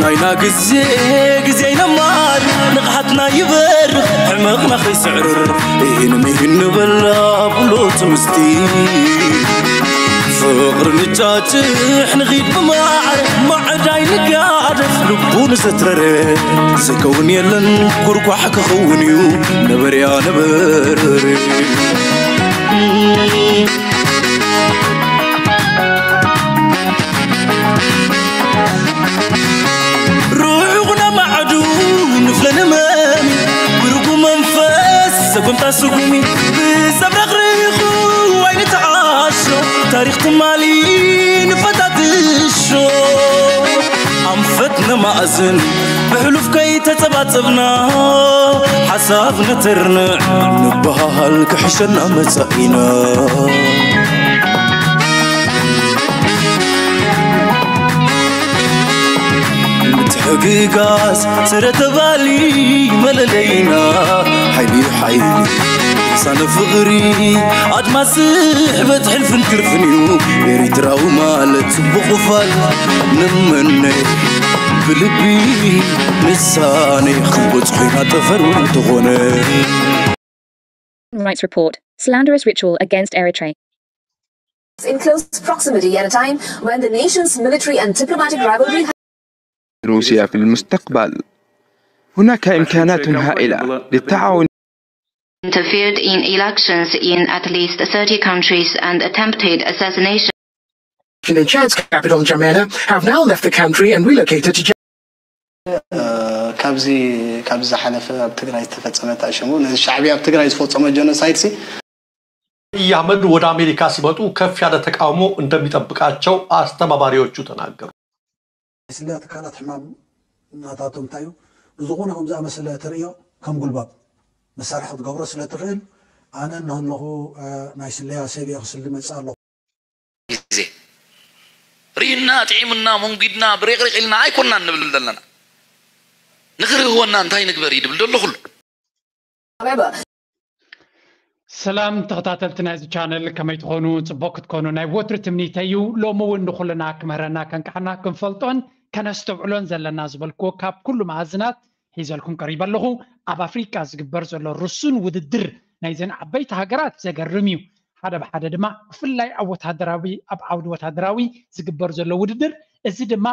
ናይና ግዜ ግዜ ይነማል፣ ንቕሓትና ይበርኽ፣ ሕመቕና ከይስዕርር፣ ኢሂን ምሂን ንበላ ብሎ ትምስቲ። ፍቕሪ ንጫጭሕ ንኺድ ብማዕረ፣ ማዕዳይ ንጋደፍ ልቡ ንዘትረረ። ዝከውን የለን ጉርጓሕ ክኸውን እዩ ነበርያ ነበረ። ርሑቕ ነማዕዱ ንፍለ ንመሚ፣ ብርጉም መንፈስ ሰጉምታ ስጉሚ፣ ብሰብ ረኽሪኹ ኣይንተዓሾ፣ ታሪኽ ትማሊ ንፈታትሾ። ኣንፈት ነማእዝን ብሕሉፍ ከይተጸባጸብና፣ ሓሳብ ነተርንዕ ንበሃል ክሕሸና መጻኢና። ምትሕግጋዝ ስረ ተባሊ መለለይና፣ ሓይሊ ሓይሊ ልሳነ ፍቕሪ ኣድማስ ስሕበት ሕልፍን ክርፍን እዩ። ኤሪትራዊ ማለት ጽቡቕ ክፋል ንመነ ብልቢ ንሳነ ክንጎጽ ኮይና ጠፈር እውን እንተኾነ። Rights report. Slanderous ritual against Eritrea. In close proximity at a time when the nation's military and diplomatic rivalry روسيا في المستقبل. هناك إمكانات هائلة للتعاون. Interfered in elections in at least thirty countries and attempted assassination. In Chad's capital, N'Djamena, have now left the country and relocated to ካብዚ ካብዚ ዝሓለፈ ኣብ ትግራይ ዝተፈፀመ ታሽሙ ነዚ ሻዕብያ ኣብ ትግራይ ዝፈፀሞ ጀኖሳይድ ሲ አብይ አህመድ ወደ አሜሪካ ሲመጡ ከፍ ያለ ተቃውሞ እንደሚጠብቃቸው አስተባባሪዎቹ ተናገሩ። ስለ ትካላት ሕማም ናታቶም እንታይ እዩ? ብዝኾነ ከም ዝኣመሰለ ተርእዮ ከም ጉልባብ መሳርሒ ክትገብሮ ስለ ትኽእል ኣነ እናሃለኹ ናይ ስለያ ሰብ እየ ክስሊ መፅእ ኣለኹ። ግዜ ርኢና ጥዒሙና መንጒድና ብሬቕሪቕ ኢልና ኣይኮናን ንብል ዘለና። ንኽርህወና እንታይ ንግበር እዩ ድብል ደሎ ኩሉ። However, ሰላም ተኸታተልቲ ናይዚ ቻነል ከመይ ትኾኑ? ጽቡቕ ክትኮኑ ናይ ወትሩ ትምኒተይ እዩ። ሎሚ እውን ንኹልና ክምህረና ከንቅሓና ክንፈልጦን ከነስተውዕሎን ዘለና ዝበልክዎ ካብ ኩሉ መኣዝናት ሒዘልኩም ቀሪበ ኣለኹ። ኣብ ኣፍሪቃ ዝግበር ዘሎ ርሱን ውድድር ናይዘን ዓበይቲ ሃገራት ዘገርም እዩ። ሓደ ብሓደ ድማ ብፍላይ ኣብ ወታደራዊ ኣብ ዓውዲ ወታደራዊ ዝግበር ዘሎ ውድድር እዚ ድማ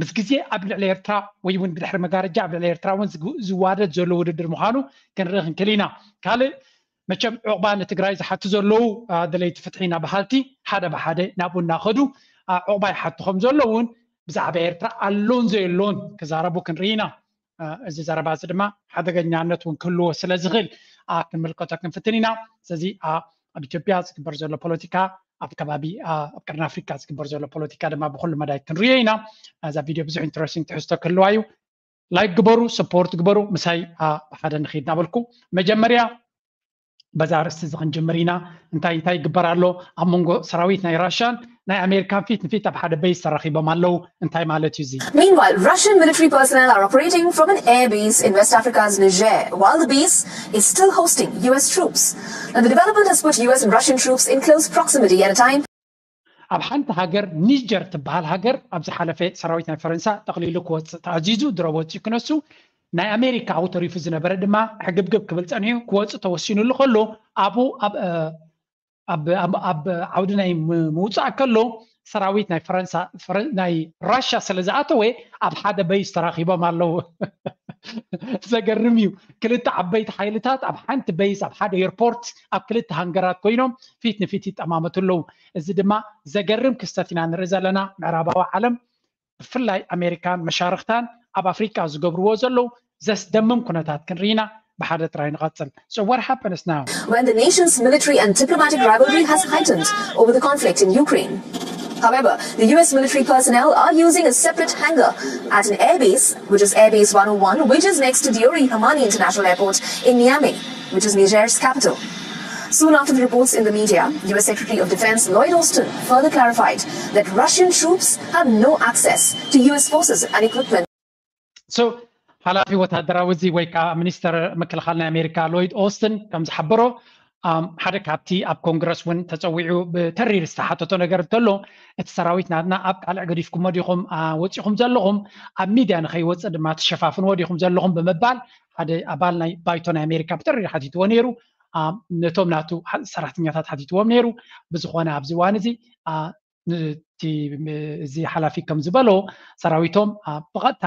ምስ ግዜ ኣብ ልዕሊ ኤርትራ ወይ እውን ብድሕሪ መጋረጃ ኣብ ልዕሊ ኤርትራ እውን ዝዋደድ ዘሎ ውድድር ምዃኑ ክንርኢ ክንክእል ኢና። ካልእ መቸም ዑቕባ ንትግራይ ዝሓቱ ዘለዉ ደለይቲ ፍትሒ ኢና በሃልቲ ሓደ ብሓደ ናብኡ እናኸዱ ዑቕባ ይሓቱ ከም ዘለዉ እውን ብዛዕባ ኤርትራ ኣሎን ዘየሎን ክዛረቡ ክንርኢ ኢና። እዚ ዘረባ እዚ ድማ ሓደገኛነት እውን ክህልዎ ስለ ዝኽእል ክንምልከቶ ክንፍትን ኢና። ስለዚ ኣብ ኢትዮጵያ ዝግበር ዘሎ ፖለቲካ ኣብ ከባቢ ኣብ ቀርኒ ኣፍሪካ ዝግበር ዘሎ ፖለቲካ ድማ ብኩሉ መዳይ ክንሪኦ ኢና። እዛ ቪድዮ ብዙሕ ኢንትረስቲንግ ትሕዝቶ ክህልዋ እዩ። ላይክ ግበሩ፣ ሰፖርት ግበሩ፣ ምሳይ ብሓደ ንኺድ እናበልኩ መጀመርያ በዛ ኣርእስቲ እዚ ክንጅምር ኢና። እንታይ እንታይ ይግበር ኣሎ? ኣብ መንጎ ሰራዊት ናይ ራሻን ናይ ኣሜሪካን ፊት ንፊት ኣብ ሓደ በይስ ተራኺቦም ኣለዉ። እንታይ ማለት እዩ እዚ? Meanwhile, Russian military personnel are operating from an air base in West Africa's Niger, while the base is still hosting U S troops. And the development has put U S and Russian troops in close proximity at a time ኣብ ሓንቲ ሃገር ኒጀር ትበሃል ሃገር ኣብ ዝሓለፈ ሰራዊት ናይ ፈረንሳ ጠቕሊሉ ክወፅእ ተኣዚዙ ድሮ ወፂኡ ክነሱ ናይ ኣሜሪካ ኣብኡ ተሪፉ ዝነበረ ድማ ሕግብግብ ክብል ፀኒሑ ክወፅእ ተወሲኑሉ ከሎ ኣብኡ ኣብ ዓውዲ ናይ ምውፃእ ከሎ ሰራዊት ናይ ፈረንሳ ናይ ራሻ ስለ ዝኣተወ ኣብ ሓደ በይስ ተራኺቦም ኣለዉ። ዘገርም እዩ። ክልተ ዓበይቲ ሓይልታት ኣብ ሓንቲ በይስ ኣብ ሓደ ኤርፖርት ኣብ ክልተ ሃንገራት ኮይኖም ፊት ንፊት ይጠማመቱ ኣለዉ። እዚ ድማ ዘገርም ክስተት ኢና ንርኢ ዘለና። ምዕራባዊ ዓለም ብፍላይ ኣሜሪካን መሻርኽታን ኣብ ኣፍሪቃ ዝገብርዎ ዘለዉ ዘስደምም ኩነታት ክንርኢ ኢና። ብሓደ ጥራይ ንቐጽል። So what happens now? When the nation's military and diplomatic rivalry has heightened over the conflict in Ukraine. However, the U S military personnel are using a separate hangar at an airbase, which is Airbase one oh one, which is next to Diori Hamani International Airport in Niamey, which is Niger's capital. Soon after the reports in the media, U S Secretary of Defense Lloyd Austin further clarified that Russian troops have no access to U S forces and equipment. So ሓላፊ ወታደራዊ እዚ ወይ ከዓ ሚኒስተር ምክልኻል ናይ ኣሜሪካ ሎይድ ኦስትን ከም ዝሓበሮ ሓደ ካብቲ ኣብ ኮንግረስ እውን ተፀዊዑ ብተሪር ዝተሓተቶ ነገር እንተሎ፣ እቲ ሰራዊት ናትና ኣብ ቃልዕ ገዲፍኩሞ ዲኹም ወፂኹም ዘለኹም? ኣብ ሚድያ ንኸይወፅእ ድማ ትሸፋፍንዎ ዲኹም ዘለኹም ብምባል ሓደ ኣባል ናይ ባይቶ ናይ ኣሜሪካ ብተሪር ሓቲትዎ ነይሩ። ነቶም ናቱ ሰራሕተኛታት ሓቲትዎም ነይሩ። ብዝኾነ ኣብዚ እዋን እዚ እቲ እዚ ሓላፊ ከም ዝበሎ ሰራዊቶም ብቐጥታ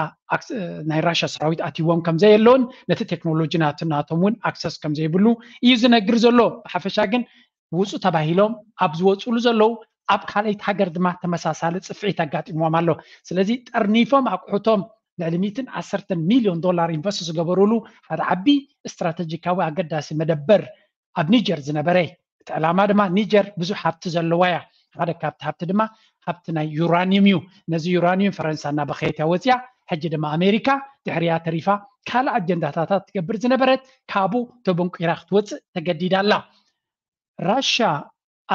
ናይ ራሽያ ሰራዊት ኣትይዎም ከም ዘየለውን ነቲ ቴክኖሎጂ ናቶም እውን ኣክሰስ ከም ዘይብሉ እዩ ዝነግር ዘሎ። ብሓፈሻ ግን ውፁ ተባሂሎም ኣብ ዝወፅሉ ዘለዉ ኣብ ካልኣይቲ ሃገር ድማ ተመሳሳሊ ፅፍዒት ኣጋጢምዎም ኣሎ። ስለዚ ጠርኒፎም ኣቑሑቶም ልዕሊ ሚእትን ዓሰርተን ሚልዮን ዶላር ኢንቨስት ዝገበሩሉ ሓደ ዓቢ ስትራተጂካዊ ኣገዳሲ መደበር ኣብ ኒጀር ዝነበረ። እቲ ዕላማ ድማ ኒጀር ብዙሕ ሃብቲ ዘለዋ እያ። ሓደ ካብቲ ሃብቲ ድማ ሃብቲ ናይ ዩራኒየም እዩ። ነዚ ዩራኒየም ፈረንሳ እናበኸየት እያ ወፅያ። ሕጂ ድማ ኣሜሪካ ድሕሪያ ተሪፋ ካልእ ኣጀንዳታታት ትገብር ዝነበረት ካብኡ ተበንቂራ ክትወፅእ ተገዲዳ ኣላ። ራሽያ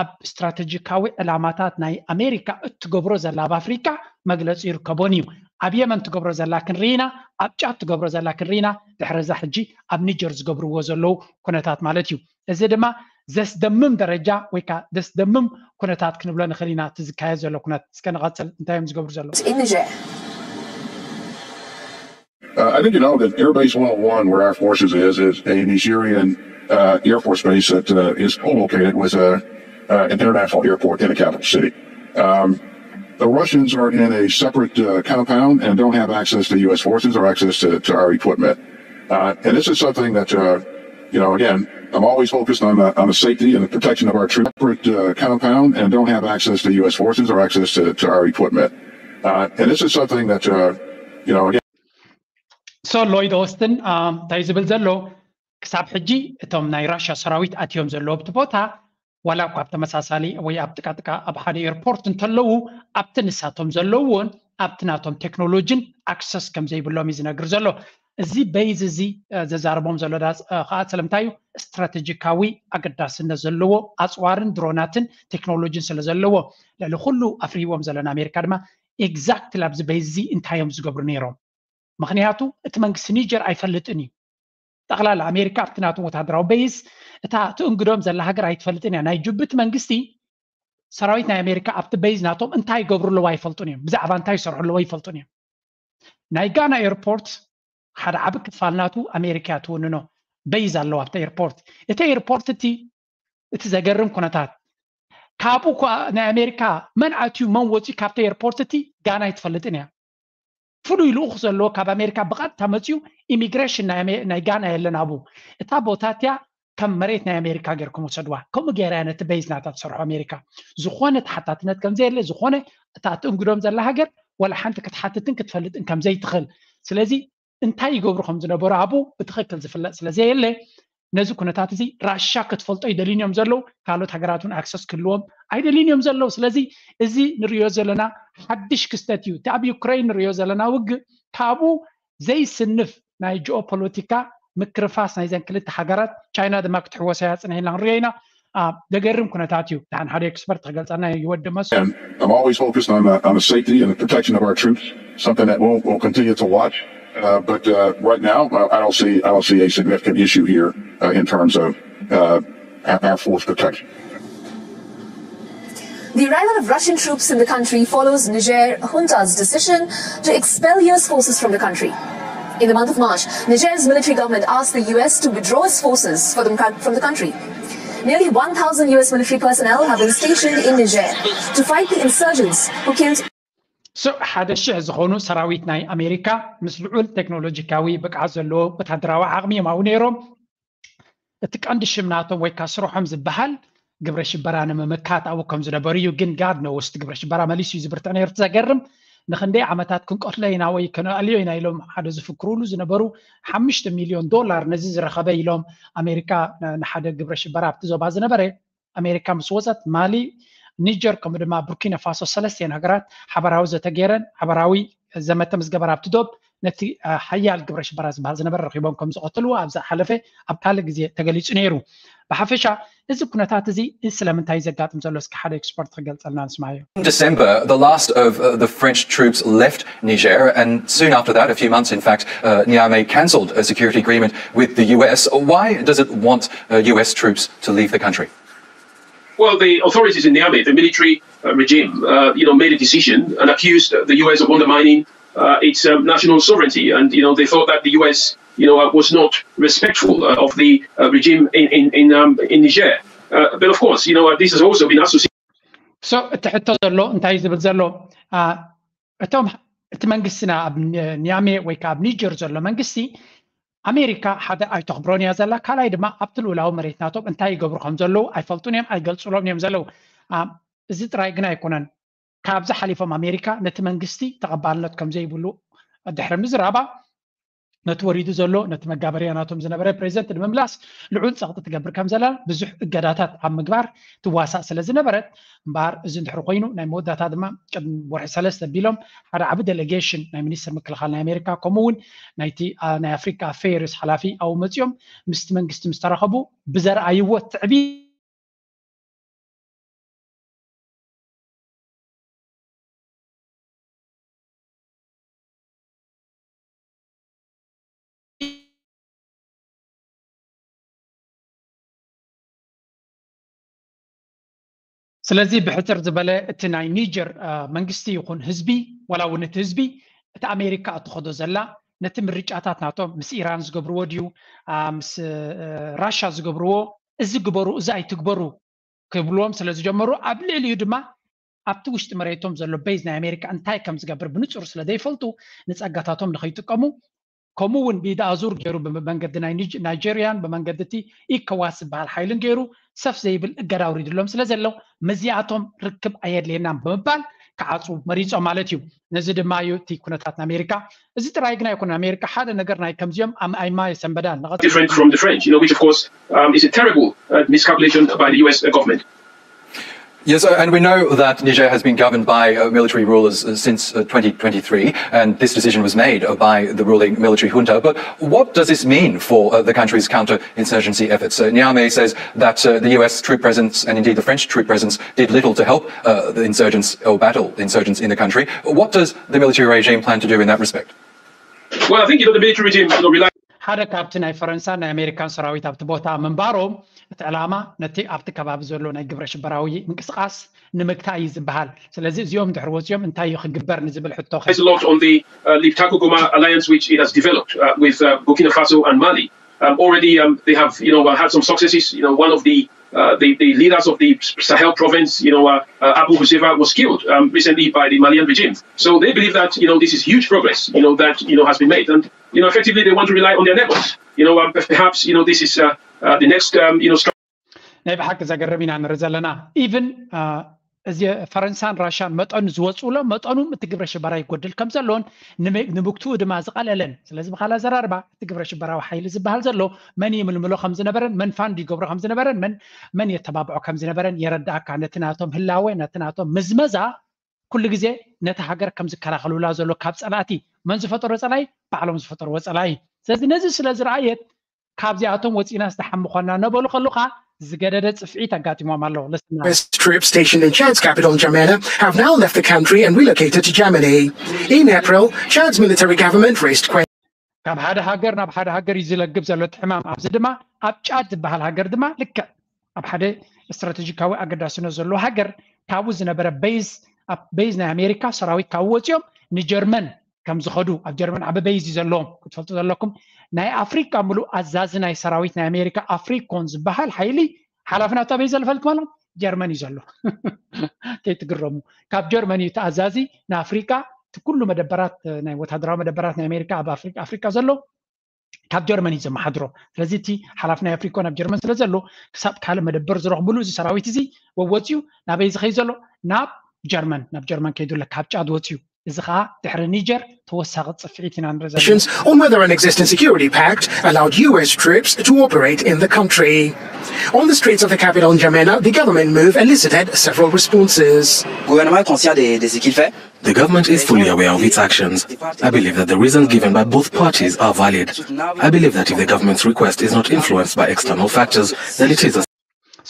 ኣብ ስትራተጂካዊ ዕላማታት ናይ ኣሜሪካ እትገብሮ ዘላ ኣብ ኣፍሪካ መግለፂ ይርከቦን እዩ። ኣብ የመን ትገብሮ ዘላ ክንርኢና፣ ኣብ ጫት ትገብሮ ዘላ ክንርኢና፣ ድሕሪ እዛ ሕጂ ኣብ ኒጀር ዝገብርዎ ዘለዉ ኩነታት ማለት እዩ። እዚ ድማ ዘስደምም ደረጃ ወይ ከዓ ዘስደምም ኩነታት ክንብሎ ንኽእል ኢና። እቲ ዝካየድ ዘሎ ኩነት እስከ ንቐፅል። እንታይ እዮም ዝገብሩ ዘለዉ? Uh, I think you know that Air Base one oh one, where our forces is, is a Nigerian uh, Air Force base that uh, is co-located with a, uh, an international airport in the capital city. Um, the Russians are in a separate uh, compound and don't have access to U S forces or access to, to our equipment. Uh, and this is something that, uh, you know, again, I'm always focused on the, on the safety and the protection of our troops. Separate uh, compound and don't have access to U S forces or access to, to our equipment. Uh, and this is something that, uh, you know, again, so Lloyd Austin, um, እንታይ ዝብል ዘሎ ክሳብ ሕጂ እቶም ናይ ራሽያ ሰራዊት ኣትዮም ዘለዉ ኣብቲ ቦታ ዋላ እኳ ኣብ ተመሳሳሊ ወይ ኣብ ጥቃጥቃ ኣብ ሓደ ኤርፖርት እንተለዉ ኣብቲ ንሳቶም ዘለውዎን ኣብቲ ናቶም ቴክኖሎጂን ኣክሰስ ከም ዘይብሎም እዩ ዝነግር ዘሎ። እዚ በይዝ እዚ ዘዛርቦም ዘሎ ከዓ ስለምንታይ እዩ? ስትራቴጂካዊ ኣገዳስነት ዘለዎ ኣፅዋርን ድሮናትን ቴክኖሎጂን ስለ ዘለዎ ልዕሊ ኩሉ ኣፍርይዎም ዘሎ ንኣሜሪካ ድማ ኤግዛክትሊ ኣብዚ በይዝ እዚ እንታይ እዮም ዝገብሩ ነይሮም? ምክንያቱ እቲ መንግስቲ ኒጀር ኣይፈልጥን እዩ። ጠቕላላ ኣሜሪካ ኣብቲ ናቶም ወታደራዊ በይዝ እታ ትእንግዶም ዘላ ሃገር ኣይትፈልጥን እያ። ናይ ጅቡቲ መንግስቲ ሰራዊት ናይ ኣሜሪካ ኣብቲ በይዝ ናቶም እንታይ ይገብሩ ኣለዉ ኣይፈልጡን እዮም። ብዛዕባ እንታይ ይሰርሑ ኣለዉ ኣይፈልጡን እዮም። ናይ ጋና ኤርፖርት ሓደ ዓቢ ክፋል ናቱ ኣሜሪካ እያ ትውንኖ። በይዝ ኣለዋ ኣብቲ ኤርፖርት። እቲ ኤርፖርት እቲ እቲ ዘገርም ኩነታት ካብኡ እኳ ናይ ኣሜሪካ መን ኣትዩ መን ወፅዩ ካብቲ ኤርፖርት እቲ ጋና ኣይትፈልጥን እያ። ፍሉይ ልኡኽ ዘለዎ ካብ ኣሜሪካ ብቐጥታ መፅዩ ኢሚግሬሽን ናይ ጋና የለን ኣብኡ። እታ ቦታ እቲያ ከም መሬት ናይ ኣሜሪካ ጌርኩም ወሰድዋ። ከምኡ ገይራ እያ ነቲ በይዝ ናታ ትሰርሖ ኣሜሪካ። ዝኾነ ተሓታትነት ከም ዘየለ፣ ዝኾነ እታ ትእንግዶም ዘላ ሃገር ወላ ሓንቲ ክትሓትትን ክትፈልጥን ከም ዘይትኽእል። ስለዚ እንታይ ይገብሩ ከም ዝነበሩ ኣብኡ ብትኽክል ዝፍለጥ ስለ ዘየለ ነዚ ኩነታት እዚ ራሻ ክትፈልጦ ይደልዩን እዮም ዘለዉ። ካልኦት ሃገራት እውን ኣክሰስ ክህልዎም ኣይደልዩን እዮም ዘለዉ። ስለዚ እዚ ንሪኦ ዘለና ሓድሽ ክስተት እዩ። እቲ ኣብ ዩክረይን ንሪኦ ዘለና ውግእ ካብኡ ዘይስንፍ ናይ ጂኦፖለቲካ ምክርፋስ ናይዘን ክልተ ሃገራት ቻይና ድማ ክትሕወሰያ ፅንሕ ኢልና ንሪኦ ኢና። ደገርም ኩነታት እዩ። ደሓን ሓደ ኤክስፐርት ክገልፀልና ይወዲ መስ I'm always focused on the, on the safety and the protection of our troops, something that we'll, we'll continue to watch. Uh, but uh, right now, I don't see I don't see a significant issue here uh, in terms of uh, our force protection. The arrival of Russian troops in the country follows Niger junta's decision to expel U S forces from the country. In the month of March, Niger's military government asked the U S to withdraw its forces from the country. Nearly one thousand U S military personnel have been stationed in Niger to fight the insurgents who killed So ሓደ ሽሕ ዝኾኑ ሰራዊት ናይ ኣሜሪካ ምስ ልዑል ቴክኖሎጂካዊ ብቅዓት ዘለዎ ወታደራዊ ዓቕሚ እዮም ኣብኡ ነይሮም። እቲ ቀንዲ ሽም ናቶም ወይ ከዓ ስርሖም ዝበሃል ግብረ ሽበራ ንምምካት ኣብኡ ከም ዝነበሩ እዩ። ግን ጋድ ኖውስ እቲ ግብረ ሽበራ መሊሱ እዩ ዝብርትዕ ነይሩ። እቲ ዘገርም ንክንደይ ዓመታት ክንቀትሎ ኢና ወይ ከነኣልዮ ኢና ኢሎም ሓደ ዝፍክሩሉ ዝነበሩ ሓሙሽተ ሚልዮን ዶላር ነዚ ዝረኸበ ኢሎም ኣሜሪካ ንሓደ ግብረ ሽበራ ኣብቲ ዞባ ዝነበረ ኣሜሪካ ምስ ወፀት ማሊ፣ ኒጀር ከምኡ ድማ ቡርኪና ፋሶ ሰለስቲኤን ሃገራት ሓበራዊ ዘተ ገይረን ሓበራዊ ዘመተ ምስ ገበረ ኣብቲ ዶብ ነቲ ሓያል ግብረ ሽበራ ዝበሃል ዝነበረ ረኺቦም ከም ዝቐተልዎ ኣብ ዝሓለፈ ኣብ ካልእ ግዜ ተገሊጹ ነይሩ። ብሓፈሻ እዚ ኩነታት እዚ ስለምንታይ ዘጋጥም ዘሎ እስኪ ሓደ ኤክስፐርት ክገልጸልና ንስማዮ። In December, the last of uh, the French troops left Niger, and soon after that, a few months in fact, uh, Niamey cancelled a security agreement with the U S. Why does it want uh, U S troops to leave the country? Well, the authorities in Niamey, the military uh, regime, uh, you know, made a decision and accused the U S of undermining uh, its um, national sovereignty, and you know, they thought that the U S, you know, uh, was not respectful uh, of the uh, regime in in in, um, in Niger. Uh, but of course, you know, uh, this has also been associated. So እቲ ሕቶ ዘሎ እንታይ ዝብል ዘሎ እቶም እቲ መንግስትና ኣብ ኒያሜ ወይ ከዓ ኣብ ኒጀር ዘሎ መንግስቲ ኣሜሪካ ሓደ ኣይተኽብሮን እያ ዘላ፣ ካልኣይ ድማ ኣብቲ ልኡላዊ መሬት ናቶም እንታይ ይገብሩ ከም ዘለዉ ኣይፈልጡን እዮም፣ ኣይገልፁሎም እዮም ዘለዉ። እዚ ጥራይ ግን ኣይኮነን፣ ካብዚ ሓሊፎም ኣሜሪካ ነቲ መንግስቲ ተቐባልነት ከም ዘይብሉ ድሕሪ ምዝራባ ነቲ ወሪዱ ዘሎ ነቲ መጋበርያ ናቶም ዝነበረ ፕሬዚደንት ንምምላስ ልዑል ፀቕጢ ትገብር ከም ዘላ ብዙሕ እገዳታት ኣብ ምግባር ትዋሳእ ስለ ዝነበረት እምበኣር እዚ እንድሕር ኮይኑ ናይ መወዳእታ ድማ ቅድሚ ወርሒ ሰለስተ ኣቢሎም ሓደ ዓቢ ዴሌጌሽን ናይ ሚኒስትር ምክልኻል ናይ ኣሜሪካ ከምኡ እውን ናይቲ ናይ ኣፍሪካ ኣፌርስ ሓላፊ ኣብኡ መፂኦም ምስቲ መንግስቲ ምስ ተራኸቡ ብዘርኣይዎ ትዕቢት ስለዚ ብሕፅር ዝበለ እቲ ናይ ኒጀር መንግስቲ ይኹን ህዝቢ ዋላ እውን እቲ ህዝቢ እቲ ኣሜሪካ እትኸዶ ዘላ ነቲ ምርጫታት ናቶም ምስ ኢራን ዝገብርዎ ድዩ ምስ ራሻ ዝገብርዎ እዚ ግበሩ እዚ ኣይትግበሩ ክብልዎም ስለ ዝጀመሩ ኣብ ልዕሊኡ ድማ ኣብቲ ውሽጢ መሬቶም ዘሎ ቤዝ ናይ ኣሜሪካ እንታይ ከም ዝገብር ብንፁር ስለ ዘይፈልጡ ንፀጋታቶም ንኸይጥቀሙ ከምኡ እውን ብኢድ ኣዙር ገይሩ ብመንገዲ ናይ ናይጀሪያን ብመንገዲ እቲ ኢኮዋስ ዝበሃል ሓይልን ገይሩ ሰፍ ዘይብል እገዳ ኣውሪድሎም ስለ ዘሎ ምስዚኣቶም ርክብ ኣየድልየናን ብምባል ክዓፁ መሪፆም ማለት እዩ። ነዚ ድማ እዩ እቲ ኩነታት ኣሜሪካ እዚ ጥራይ ግን ኣይኮነን። ኣሜሪካ ሓደ ነገር ናይ ከምዚኦም ኣምኣይማ የሰንበዳን different from the French, you know, which of course um, is a terrible uh, miscalculation by the U S government. Yes, uh, and we know that Niger has been governed by uh, military rulers uh, since uh, twenty twenty-three, and this decision was made uh, by the ruling military junta. But what does this mean for uh, the country's counterinsurgency efforts? Uh, Niamey says that uh, the U S troop presence and indeed the French troop presence did little to help uh, the insurgents or battle insurgents in the country. What does the military regime plan to do in that respect? Well, I think you know, the military regime you know, relies ሓደ ካብቲ ናይ ፈረንሳን ናይ ኣሜሪካን ሰራዊት ኣብቲ ቦታ ምንባሮም እቲ ዕላማ ነቲ ኣብቲ ከባቢ ዘሎ ናይ ግብረ ሽበራዊ ምንቅስቃስ ንምግታእ እዩ ዝበሃል። ስለዚ እዚኦም ድሕሪ ወፂኦም እንታይ እዩ ክግበር ንዝብል ሕቶ a lot on the uh, Liptako Goma alliance which it has developed uh, with uh, Burkina Faso and Mali. Um, already um, they have you know uh, had some successes. You know, one of the uh, the, the leaders of the Sahel province, you know, uh, uh, Abu Huzaifa was killed um, recently by the Malian regime. So they believe that you know this is huge progress, you know, that you know has been made, and you know effectively they want to rely on their networks. You know, um, perhaps you know this is uh, uh, the next um, you know. ናይ ብሓቂ ዘገርም ኢና ንርኢ ዘለና። ኢቭን እዚ ፈረንሳን ራሻን መጠኑ ዝወፅኡሎም መጠኑ እቲ ግብረ ሽበራ ይጎድል ከም ዘሎን ንምግትኡ ድማ ዝቐለለን። ስለዚ ብካል ኣዘራርባ እቲ ግብረ ሽበራዊ ሓይሊ ዝበሃል ዘሎ መን ይምልምሎ ከም ዝነበረን መን ፋንድ ይገብሮ ከም ዝነበረን መን መን የተባብዖ ከም ዝነበረን የረዳእካ። ነቲ ናቶም ህላወ ነቲ ናቶም ምዝመዛ ኩሉ ግዜ ነቲ ሃገር ከም ዝከላኸሉላ ዘሎ ካብ ፀላእቲ መን ዝፈጠሮ ፀላኢ ባዕሎም ዝፈጠርዎ ፀላኢ። ስለዚ ነዚ ስለ ዝረኣየት ካብዚኣቶም ወፂና ዝተሓምኾና ነበሉ ከሉኻ ዝገደደ ፅፍዒት ኣጋጢሞም ኣሎ። Troops stationed in Chad's capital N'Djamena have now left the country and relocated to Germany. In April, Chad's military government raised questions. ካብ ሓደ ሃገር ናብ ሓደ ሃገር እዩ ዝለግብ ዘሎ እቲ ሕማም። ኣብዚ ድማ ኣብ ጫድ ዝበሃል ሃገር ድማ ልክዕ ኣብ ሓደ ስትራቴጂካዊ ኣገዳስነት ዘለዎ ሃገር ካብኡ ዝነበረ ቤዝ ኣብ ቤዝ ናይ ኣሜሪካ ሰራዊት ካብኡ ወፂኦም ንጀርመን ከም ዝኸዱ ኣብ ጀርመን ዓቢ ቤዝ እዩ ዘለዎም ክትፈልጡ ዘለኩም። ናይ ኣፍሪካ ምሉእ ኣዛዚ ናይ ሰራዊት ናይ ኣሜሪካ ኣፍሪኮን ዝበሃል ሓይሊ ሓላፊ ናብታ ቤዝ ዘለፈልኩም ኣሎ ጀርመን እዩ ዘሎ። ከይትግረሙ ካብ ጀርመን እዩ ተኣዛዚ ንኣፍሪካ እቲ ኩሉ መደበራት ናይ ወታደራዊ መደበራት ናይ ኣሜሪካ ኣብ ኣፍሪካ ዘሎ ካብ ጀርመን እዩ ዘመሓድሮ። ስለዚ እቲ ሓላፊ ናይ ኣፍሪኮን ኣብ ጀርመን ስለ ዘሎ ክሳብ ካልእ መደበር ዝረኽብሉ እዚ ሰራዊት እዚ ወወፅዩ ናበይ ዝኸይ ዘሎ ናብ ጀርመን ናብ ጀርመን ከይዱ ኣሎ ካብ ጫድ ወፅዩ እዚ ከዓ ድሕሪ ኒጀር ተወሳኺ ፅፍዒት ኢና ንርኢ ዘለና። Questions on whether an existing security pact allowed U S troops to operate in the country. On the streets of the capital N'Djamena, the government move elicited several responses. Le gouvernement est conscient de, de ce qu'il fait. The government is fully aware of its actions. I believe that the reasons given by both parties are valid. I believe that if the government's request is not influenced by external factors, then it is a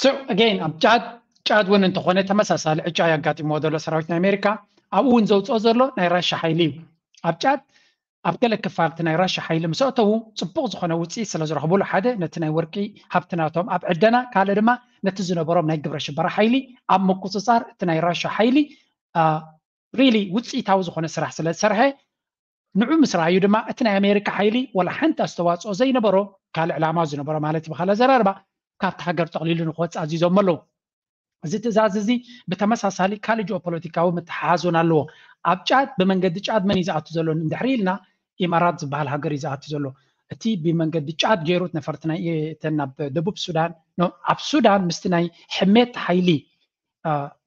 So again ኣብ ጫድ ጫድ እውን እንተኾነ ተመሳሳሊ ዕጫ የጋጢሞ ዘሎ ሰራዊት ናይ ኣሜሪካ ኣብኡ እውን ዘውፅኦ ዘሎ ናይ ራሻ ሓይሊ እዩ። ኣብ ጫድ ኣብ ገለ ክፋልቲ ናይ ራሻ ሓይሊ ምስ ኣተዉ ፅቡቕ ዝኾነ ውፅኢት ስለ ዝረኽቡሉ ሓደ ነቲ ናይ ወርቂ ሃብትናቶም ኣብ ዕደና ካልእ ድማ ነቲ ዝነበሮም ናይ ግብረ ሽበራ ሓይሊ ኣብ ምቁፅፃር እቲ ናይ ራሻ ሓይሊ really ውፅኢታዊ ዝኾነ ስራሕ ስለ ዝሰርሐ ንዑ ምስ ረኣዩ ድማ እቲ ናይ ኣሜሪካ ሓይሊ ወላ ሓንቲ ኣስተዋፅኦ ዘይነበሮ ካልእ ዕላማ ዝነበሮ ማለት ብካል ኣዘራርባ ካብቲ ሃገር ጠቕሊሉ ንክወፅእ ኣዚዞም ኣለዉ። እዚ ትእዛዝ እዚ ብተመሳሳሊ ካልእ ጂኦፖለቲካዊ ምትሓሓዝ እውን ኣለዎ። ኣብ ጫድ ብመንገዲ ጫድ መን እዩ ዝኣቱ ዘሎ እንድሕሪ ኢልና ኢማራት ዝበሃል ሃገር እዩ ዝኣቱ ዘሎ። እቲ ብመንገዲ ጫድ ገይሩ ነፈርቲ ናይ እተን ናብ ደቡብ ሱዳን ኣብ ሱዳን ምስቲ ናይ ሕሜት ሓይሊ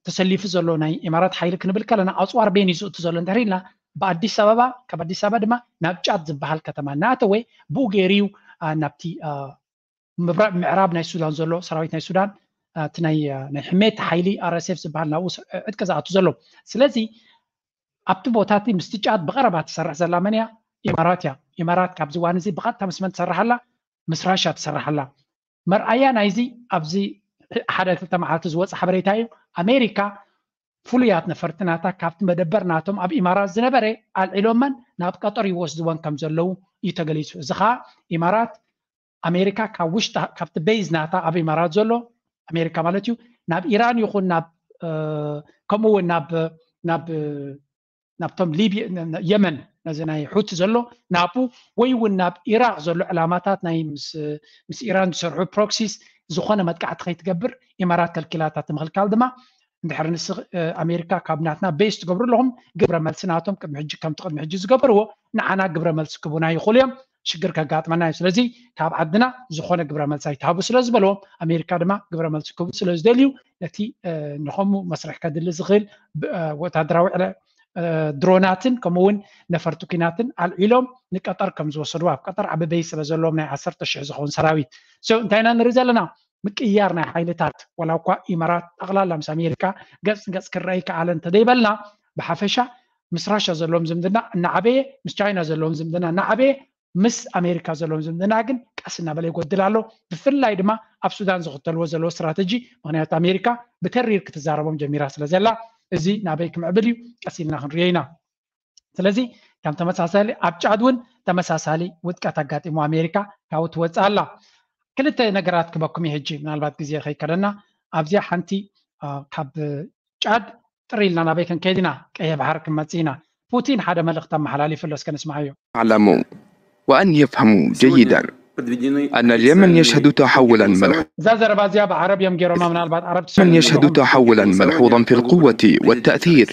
ተሰሊፉ ዘሎ ናይ ኢማራት ሓይሊ ክንብል ከለና ኣፅዋር ቤን እዩ ዝእቱ ዘሎ እንድሕሪ ኢልና ብኣዲስ ኣበባ ካብ ኣዲስ ኣበባ ድማ ናብ ጫድ ዝበሃል ከተማ እናኣተወ ብኡ ገይሩ እዩ ናብቲ ምዕራብ ናይ ሱዳን ዘሎ ሰራዊት ናይ ሱዳን እቲ ናይ ሕሜት ሓይሊ RSF ዝበሃል ናብኡ ዕጥቂ ዝኣቱ ዘሎ። ስለዚ ኣብቲ ቦታ እቲ ምስቲ ጫድ ብቐረባ ትሰርሕ ዘላ መን እያ? ኢማራት እያ። ኢማራት ካብዚ እዋን እዚ ብቐጥታ ምስ መን ትሰርሕ ኣላ? ምስ ራሻ ትሰርሕ ኣላ። መርኣያ ናይዚ ኣብዚ ሓደ ክልተ መዓልቲ ዝወፀ ሓበሬታ እዩ። ኣሜሪካ ፍሉያት ነፈርቲ ናታ ካብቲ መደበር ናቶም ኣብ ኢማራት ዝነበረ ኣልዒሎመን ናብ ቀጠር ይወስድወን ከም ዘለዉ እዩ ተገሊፁ። እዚ ከዓ ኢማራት ኣሜሪካ ካብ ውሽጢ ካብቲ ቤዝ ናታ ኣብ ኢማራት ዘሎ ኣሜሪካ ማለት እዩ ናብ ኢራን ይኹን ናብ ከምኡ እውን ናብ ናብ ናብቶም ሊብያ የመን ነዚ ናይ ሑቲ ዘሎ ናቡ ወይ እውን ናብ ኢራቅ ዘሎ ዕላማታት ናይ ምስ ኢራን ዝሰርሑ ፕሮክሲስ ዝኾነ መጥቃዕቲ ከይትገብር ኢማራት ከልኪላታ። ምኽልካል ድማ እንድሕር ንስ ኣሜሪካ ካብ ናትና ቤስ ትገብሩ ኣለኹም ግብረ መልሲ ናቶም ቅድሚ ሕጂ ከምቲ ቅድሚ ሕጂ ዝገበርዎ ንዓና ግብረ መልሲ ክቡና ይኽእሉ እዮም። ሽግር ከጋጥመና እዩ። ስለዚ ካብ ዓድና ዝኾነ ግብረ መልሲ ኣይትሃቡ ስለ ዝበልዎም ኣሜሪካ ድማ ግብረ መልሲ ክህቡ ስለ ዝደልዩ ነቲ ንኸምኡ መስርሕ ከድሊ ዝኽእል ወታደራዊ ድሮናትን ከምኡ እውን ነፈርቲ ኩናትን ኣልዒሎም ንቀጠር ከም ዝወሰድዎ ኣብ ቀጠር ዓቢ ቤይ ስለ ዘለዎም ናይ ዓሰርተ ሽሕ ዝኸውን ሰራዊት። So እንታይ ኢና ንርኢ ዘለና? ምቅያር ናይ ሓይልታት ዋላ እኳ ኢማራት ጠቕላላ ምስ ኣሜሪካ ገጽ ንገጽ ክረኣይ ከኣለ እንተደይበልና ብሓፈሻ ምስ ራሻ ዘለዎም ዝምድና እናዓበየ ምስ ቻይና ዘለዎም ዝምድና እናዓበየ ምስ ኣሜሪካ ዘለዎም ዝምድና ግን ቀስ እናበለ ይጎድል ኣሎ። ብፍላይ ድማ ኣብ ሱዳን ዝኽተልዎ ዘለዎ ስትራተጂ ምክንያቱ ኣሜሪካ ብተሪር ክትዛረቦም ጀሚራ ስለ ዘላ እዚ ናበይ ክምዕብል እዩ ቀስ ኢልና ክንሪኦ ኢና። ስለዚ ከም ተመሳሳሊ ኣብ ጫድ እውን ተመሳሳሊ ውድቀት ኣጋጢሞ ኣሜሪካ ካብኡ ትወፅእ ኣላ። ክልተ ነገራት ክበኩም እዩ ሕጂ ምናልባት ግዜ ከይከደና ኣብዚኣ ሓንቲ ካብ ጫድ ጥር ኢልና ናበይ ክንከይድ ኢና ቀይሕ ባሕሪ ክንመፅእ ኢና። ፑቲን ሓደ መልእኽቲ ኣመሓላሊፉ ኣሎ እስከ ንስምዓዮ። يعلموا وأن يفهموا جيدا أن اليمن يشهد تحولا ملحوظا እዛ ዘረባ እዚኣ ብዓረብ እዮም ገይሮማ ምናልባት ዓረብ اليمن يشهد تحولا ملحوظا في القوة والتأثير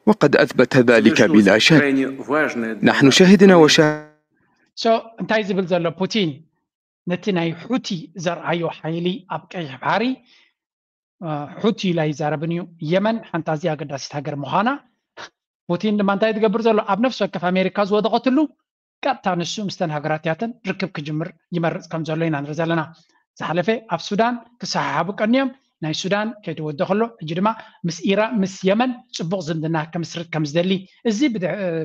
وقد أثبت ذلك بلا شك نحن شهدنا وشاهدنا So እንታይ ዝብል ዘሎ ፑቲን ነቲ ናይ ሑቲ ዘርኣዮ ሓይሊ ኣብ ቀይሕ ባሕሪ ሑቲ ኢላ ይዛረብን እዩ። የመን ሓንቲ ኣዝያ ኣገዳሲት ሃገር ምዃና ፑቲን ድማ እንታይ ትገብር ዘሎ ኣብ ነፍሲ ወከፍ ኣሜሪካ ዝወደቐትሉ ቀጥታ ንሱ ምስተን ሃገራት ያተን ርክብ ክጅምር ይመርፅ ከም ዘሎ ኢና ንርኢ ዘለና። ዝሓለፈ ኣብ ሱዳን ክሰሓሓቡ ቀንዮም ናይ ሱዳን ከይተወደ ከሎ ሕጂ ድማ ምስ ኢራን ምስ የመን ፅቡቕ ዝምድና ከምስርት ከም ዝደሊ እዚ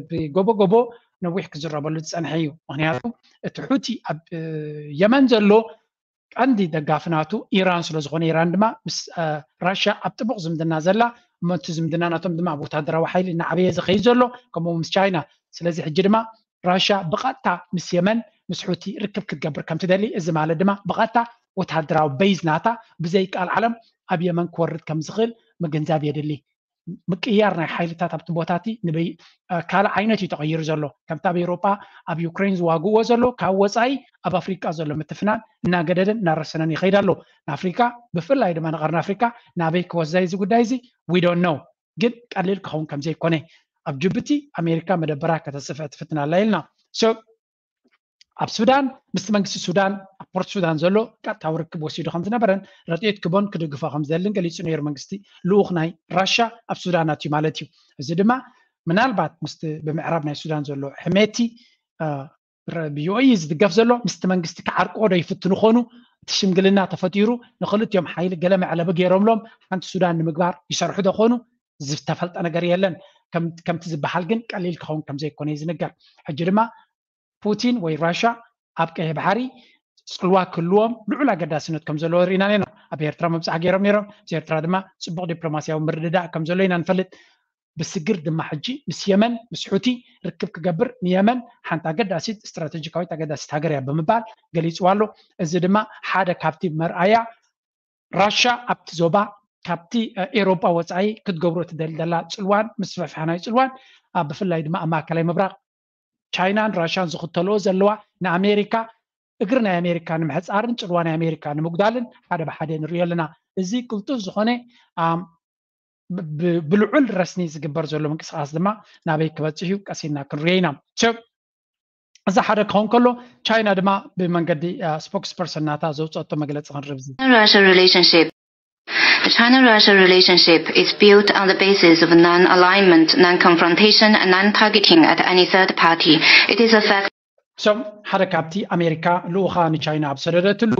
ብጎቦ ጎቦ ነዊሕ ክዝረበሉ ዝፀንሐ እዩ። ምክንያቱ እቲ ሑቲ ኣብ የመን ዘሎ ቀንዲ ደጋፊ ናቱ ኢራን ስለ ዝኾነ ኢራን ድማ ምስ ራሽያ ኣብ ጥቡቕ ዝምድና ዘላ እሞ እቲ ዝምድና ናቶም ድማ ኣብ ወታደራዊ ሓይሊ እናዓበየ ዝኸይድ ዘሎ ከምኡ ምስ ቻይና። ስለዚ ሕጂ ድማ ራሽያ ብቐጥታ ምስ የመን ምስ ሑቲ ርክብ ክትገብር ከም ትደሊ እዚ ማለት ድማ ብቐጥታ ወታደራዊ በይዝ ናታ ብዘይ ቃል ዓለም ኣብ የመን ክወርድ ከም ዝኽእል ምግንዛብ የድሊ። ምቅያር ናይ ሓይልታት ኣብቲ ቦታ እቲ ንበይ ካልእ ዓይነት እዩ ተቐይሩ ዘሎ። ከምቲ ኣብ ኤውሮጳ ኣብ ዩክሬን ዝዋግእዎ ዘሎ ካብ ወፃኢ ኣብ ኣፍሪቃ ዘሎ ምትፍናን እናገደደን እናረሰነን ይኸይድ ኣሎ። ንኣፍሪካ ብፍላይ ድማ ንቐርኒ ኣፍሪካ ናበይ ክወስዳ እዚ ጉዳይ እዚ we don't know ግን ቀሊል ክኸውን ከም ዘይኮነ ኣብ ጅቡቲ ኣሜሪካ መደበራ ከተስፍሕ ትፍትን ኣላ ኢልና። So ኣብ ሱዳን ምስቲ መንግስቲ ሱዳን ኣብ ፖርት ሱዳን ዘሎ ቀጥታዊ ርክብ ወሲዱ ከም ዝነበረን ረድኤት ክቦን ክድግፎ ከም ዝደልን ገሊጹ ነይሩ። መንግስቲ ልኡኽ ናይ ራሻ ኣብ ሱዳን ኣትዩ ማለት እዩ። እዚ ድማ ምናልባት ምስቲ ብምዕራብ ናይ ሱዳን ዘሎ ሕሜቲ ብዩኤኢ ዝድገፍ ዘሎ ምስቲ መንግስቲ ክዓርቆ ዶ ይፍትኑ ኾኑ? እቲ ሽምግልና ተፈጢሩ ንክልቲኦም ሓይሊ ገለ መዕለቢ ገይሮምሎም ሓንቲ ሱዳን ንምግባር ይሰርሑ ዶ ኾኑ? ዝተፈልጠ ነገር የለን። ከምቲ ዝበሃል ግን ቀሊል ክኸውን ከም ዘይኮነ እዩ ዝንገር። ሕጂ ድማ ፑቲን ወይ ራሻ ኣብ ቀይሕ ባሕሪ ፅልዋ ክህልዎም ልዑል ኣገዳስነት ከም ዘለዎ ርኢና ኢና። ኣብ ኤርትራ መብፃሕ ገይሮም ነይሮም። ምስ ኤርትራ ድማ ፅቡቕ ዲፕሎማሲያዊ ምርድዳእ ከም ዘሎ ኢና ንፈልጥ። ብስግር ድማ ሕጂ ምስ የመን ምስ ሑቲ ርክብ ክገብር ንየመን ሓንቲ ኣገዳሲት ስትራቴጂካዊት ኣገዳሲት ሃገር እያ ብምባል ገሊፅዋ ኣሎ። እዚ ድማ ሓደ ካብቲ መርኣያ ራሻ ኣብቲ ዞባ ካብቲ ኤሮጳ ወፃኢ ክትገብሮ ትደሊ ዘላ ፅልዋን ምስፍሕፋሕ ናይ ፅልዋን ብፍላይ ድማ ኣብ ማእከላይ ምብራቕ ቻይናን ራሻን ዝኽተልኦ ዘለዋ ንኣሜሪካ እግሪ ናይ ኣሜሪካ ንምሕፃርን ፅልዋ ናይ ኣሜሪካ ንምጉዳልን ሓደ ብሓደ ንሪኦ ኣለና። እዚ ቅልጡፍ ዝኾነ ብልዑል ረስኒ ዝግበር ዘሎ ምንቅስቃስ ድማ ናበይ ክበፅሕ እዩ ቀሲና ክንሪኦ ኢና። እዚ ሓደ ክኸውን ከሎ ቻይና ድማ ብመንገዲ ስፖክስ ፐርሰን ናታ ዘውፀቶ መግለፂ ክንርብዚ Russia relationship The China-Russia relationship is built on the basis of non-alignment, non-confrontation, and non-targeting at any third party. It is a fact. So ሓደ ካብቲ ኣሜሪካ ልኡኻ ንቻይና ኣብ ሰደደትሉ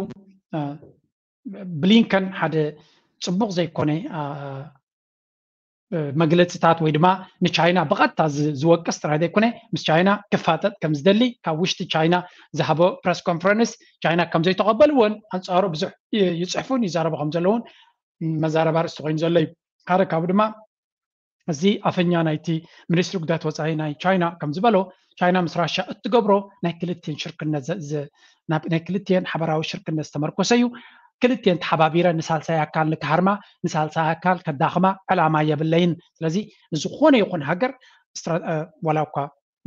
ብሊንከን ሓደ ፅቡቕ ዘይኮነ መግለፅታት ወይ ድማ ንቻይና ብቐጥታ ዝወቅስ ጥራይ ዘይኮነ ምስ ቻይና ክፋጠጥ ከም ዝደሊ ካብ ውሽጢ ቻይና ዝሃቦ ፕረስ ኮንፈረንስ ቻይና ከም ዘይተቐበልዎን ኣንፃሩ ብዙሕ ይፅሕፉን ይዛረቡ ከም ዘለውን መዛረባ ርእስቲ ኮይኑ ዘሎ እዩ። ሓደ ካብኡ ድማ እዚ ኣፈኛ ናይቲ ሚኒስትሪ ጉዳያት ወፃኢ ናይ ቻይና ከም ዝበሎ ቻይና ምስ ራሻ እትገብሮ ናይ ክልቲኤን ሽርክነት ናይ ክልቲኤን ሓበራዊ ሽርክነት ዝተመርኮሰ እዩ። ክልቲኤን ተሓባቢረ ንሳልሳይ ኣካል ንክሃርማ ንሳልሳይ ኣካል ከዳኽማ ዕላማ የብለይን። ስለዚ ንዝኾነ ይኹን ሃገር ዋላ እኳ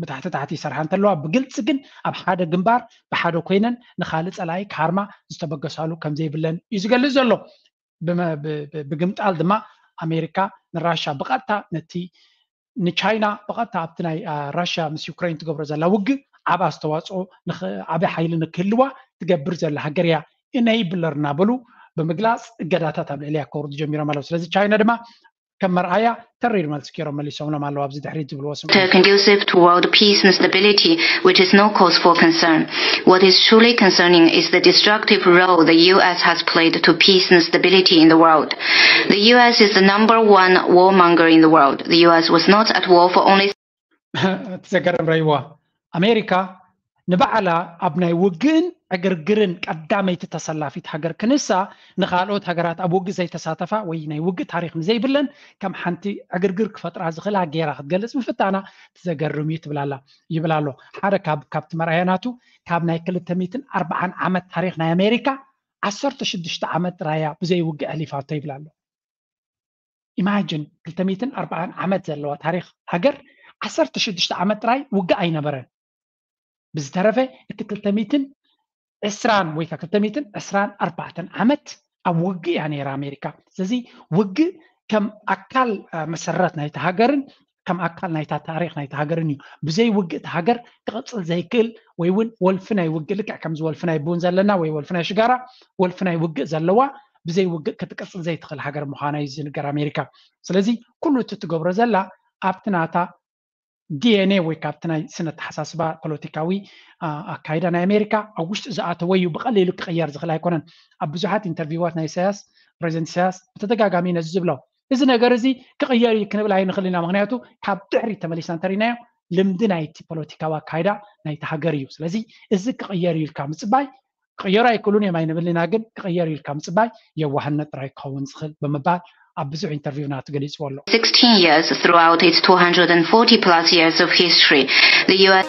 ብታሕቲ ታሕቲ ይሰርሓ እንተለዋ ብግልፂ ግን ኣብ ሓደ ግንባር ብሓደ ኮይነን ንካልእ ፀላኢ ክሃርማ ዝተበገሳሉ ከም ዘይብለን እዩ ዝገልፅ ዘሎ። ብግምጣል ድማ ኣሜሪካ ንራሻ ብቐጥታ ነቲ ንቻይና ብቐጥታ ኣብቲ ናይ ራሽያ ምስ ዩክሬን ትገብሮ ዘላ ውግእ ዓብ ኣስተዋፅኦ ዓብ ሓይሊ ንክህልዋ ትገብር ዘላ ሃገር እያ ኢነይብለር እናበሉ ብምግላፅ እገዳታት ኣብ ልዕልያ ከውርዱ ጀሚሮም ኣለዉ። ስለዚ ቻይና ድማ ከም መርኣያ ተሪር መልሲ ገይሮም መሊሶምሎም ኣለዉ። ኣብዚ ድሕሪት ዝብልዎ ስምዑ። Conducive to world peace and stability, which is no cause for concern. What is truly concerning is the destructive role the U S has played to peace and stability in the world. The U S is the number one warmonger in the world. The U S was not at war for only እቲ ዘገርም ረይዋ ኣሜሪካ ንባዕላ ኣብ ናይ ውግእን ዕግርግርን ቀዳመይቲ ተሰላፊት ሃገር ክንሳ ንካልኦት ሃገራት ኣብ ውግእ ዘይተሳተፋ ወይ ናይ ውግእ ታሪክ ንዘይብለን ከም ሓንቲ ዕግርግር ክፈጥራ ዝኽእላ ገይራ ክትገልፅ ምፍታና ትዘገርም እዩ ትብላላ ይብል ኣሎ። ሓደ ካብ ካብቲ መርኣያ ናቱ ካብ ናይ ክልተ ሚእትን ኣርባዓን ዓመት ታሪክ ናይ ኣሜሪካ ዓሰርተ ሽዱሽተ ዓመት ጥራያ ብዘይ ውግእ ኣሕሊፋቶ ይብል ኣሎ። ኢማጅን ክልተ ሚእትን ኣርባዓን ዓመት ዘለዋ ታሪክ ሃገር ዓሰርተ ሽዱሽተ ዓመት ጥራይ ውግእ ኣይነበረን። ብዝተረፈ እቲ ክልተ ሚእትን ዕስራን ወይ ከዓ ክልተ ሚእትን ዕስራን ኣርባዕተን ዓመት ኣብ ውግእ እያ ነይራ ኣሜሪካ። ስለዚ ውግእ ከም ኣካል መሰረት ናይቲ ሃገርን ከም ኣካል ናይታ ታሪክ ናይቲ ሃገርን እዩ። ብዘይ ውግእ እቲ ሃገር ክቕፅል ዘይክእል ወይ እውን ወልፊ ናይ ውግእ ልክዕ ከምዚ ወልፊ ናይ ቡን ዘለና ወይ ወልፊ ናይ ሽጋራ ወልፊ ናይ ውግእ ዘለዋ ብዘይ ውግእ ክትቅፅል ዘይትኽእል ሃገር ምዃና እዩ ዝንገር ኣሜሪካ። ስለዚ ኩሉ እቲ ትገብሮ ዘላ ኣብቲ ናታ ዲኤንኤ ወይ ካብቲ ናይ ስነ ኣተሓሳስባ ፖለቲካዊ ኣካይዳ ናይ ኣሜሪካ ኣብ ውሽጢ ዝኣተወ እዩ። ብቐሊሉ ክቕየር ዝኽእል ኣይኮነን። ኣብ ብዙሓት ኢንተርቪዋት ናይ ኢሳያስ ፕሬዚደንት ኢሳያስ ብተደጋጋሚ ነዚ ዝብሎ እዚ ነገር እዚ ክቕየር እዩ ክንብል ኣይንኽእል ኢና። ምክንያቱ ካብ ድሕሪት ተመሊስና እንተሪናዮ ልምዲ ናይቲ ፖለቲካዊ ኣካይዳ ናይቲ ሃገር እዩ። ስለዚ እዚ ክቕየር እዩ ኢልካ ምፅባይ ክቕየሩ ኣይክእሉን እዮም ኣይንብልን ኢና፣ ግን ክቕየር እዩ ኢልካ ምፅባይ የዋህነት ጥራይ ክኸውን ዝኽእል ብምባል ኣብ ብዙሕ ኢንተርቪው ናቱ ገሊፅዎ ኣሎ። sixteen years throughout its two hundred forty plus years of history. The U S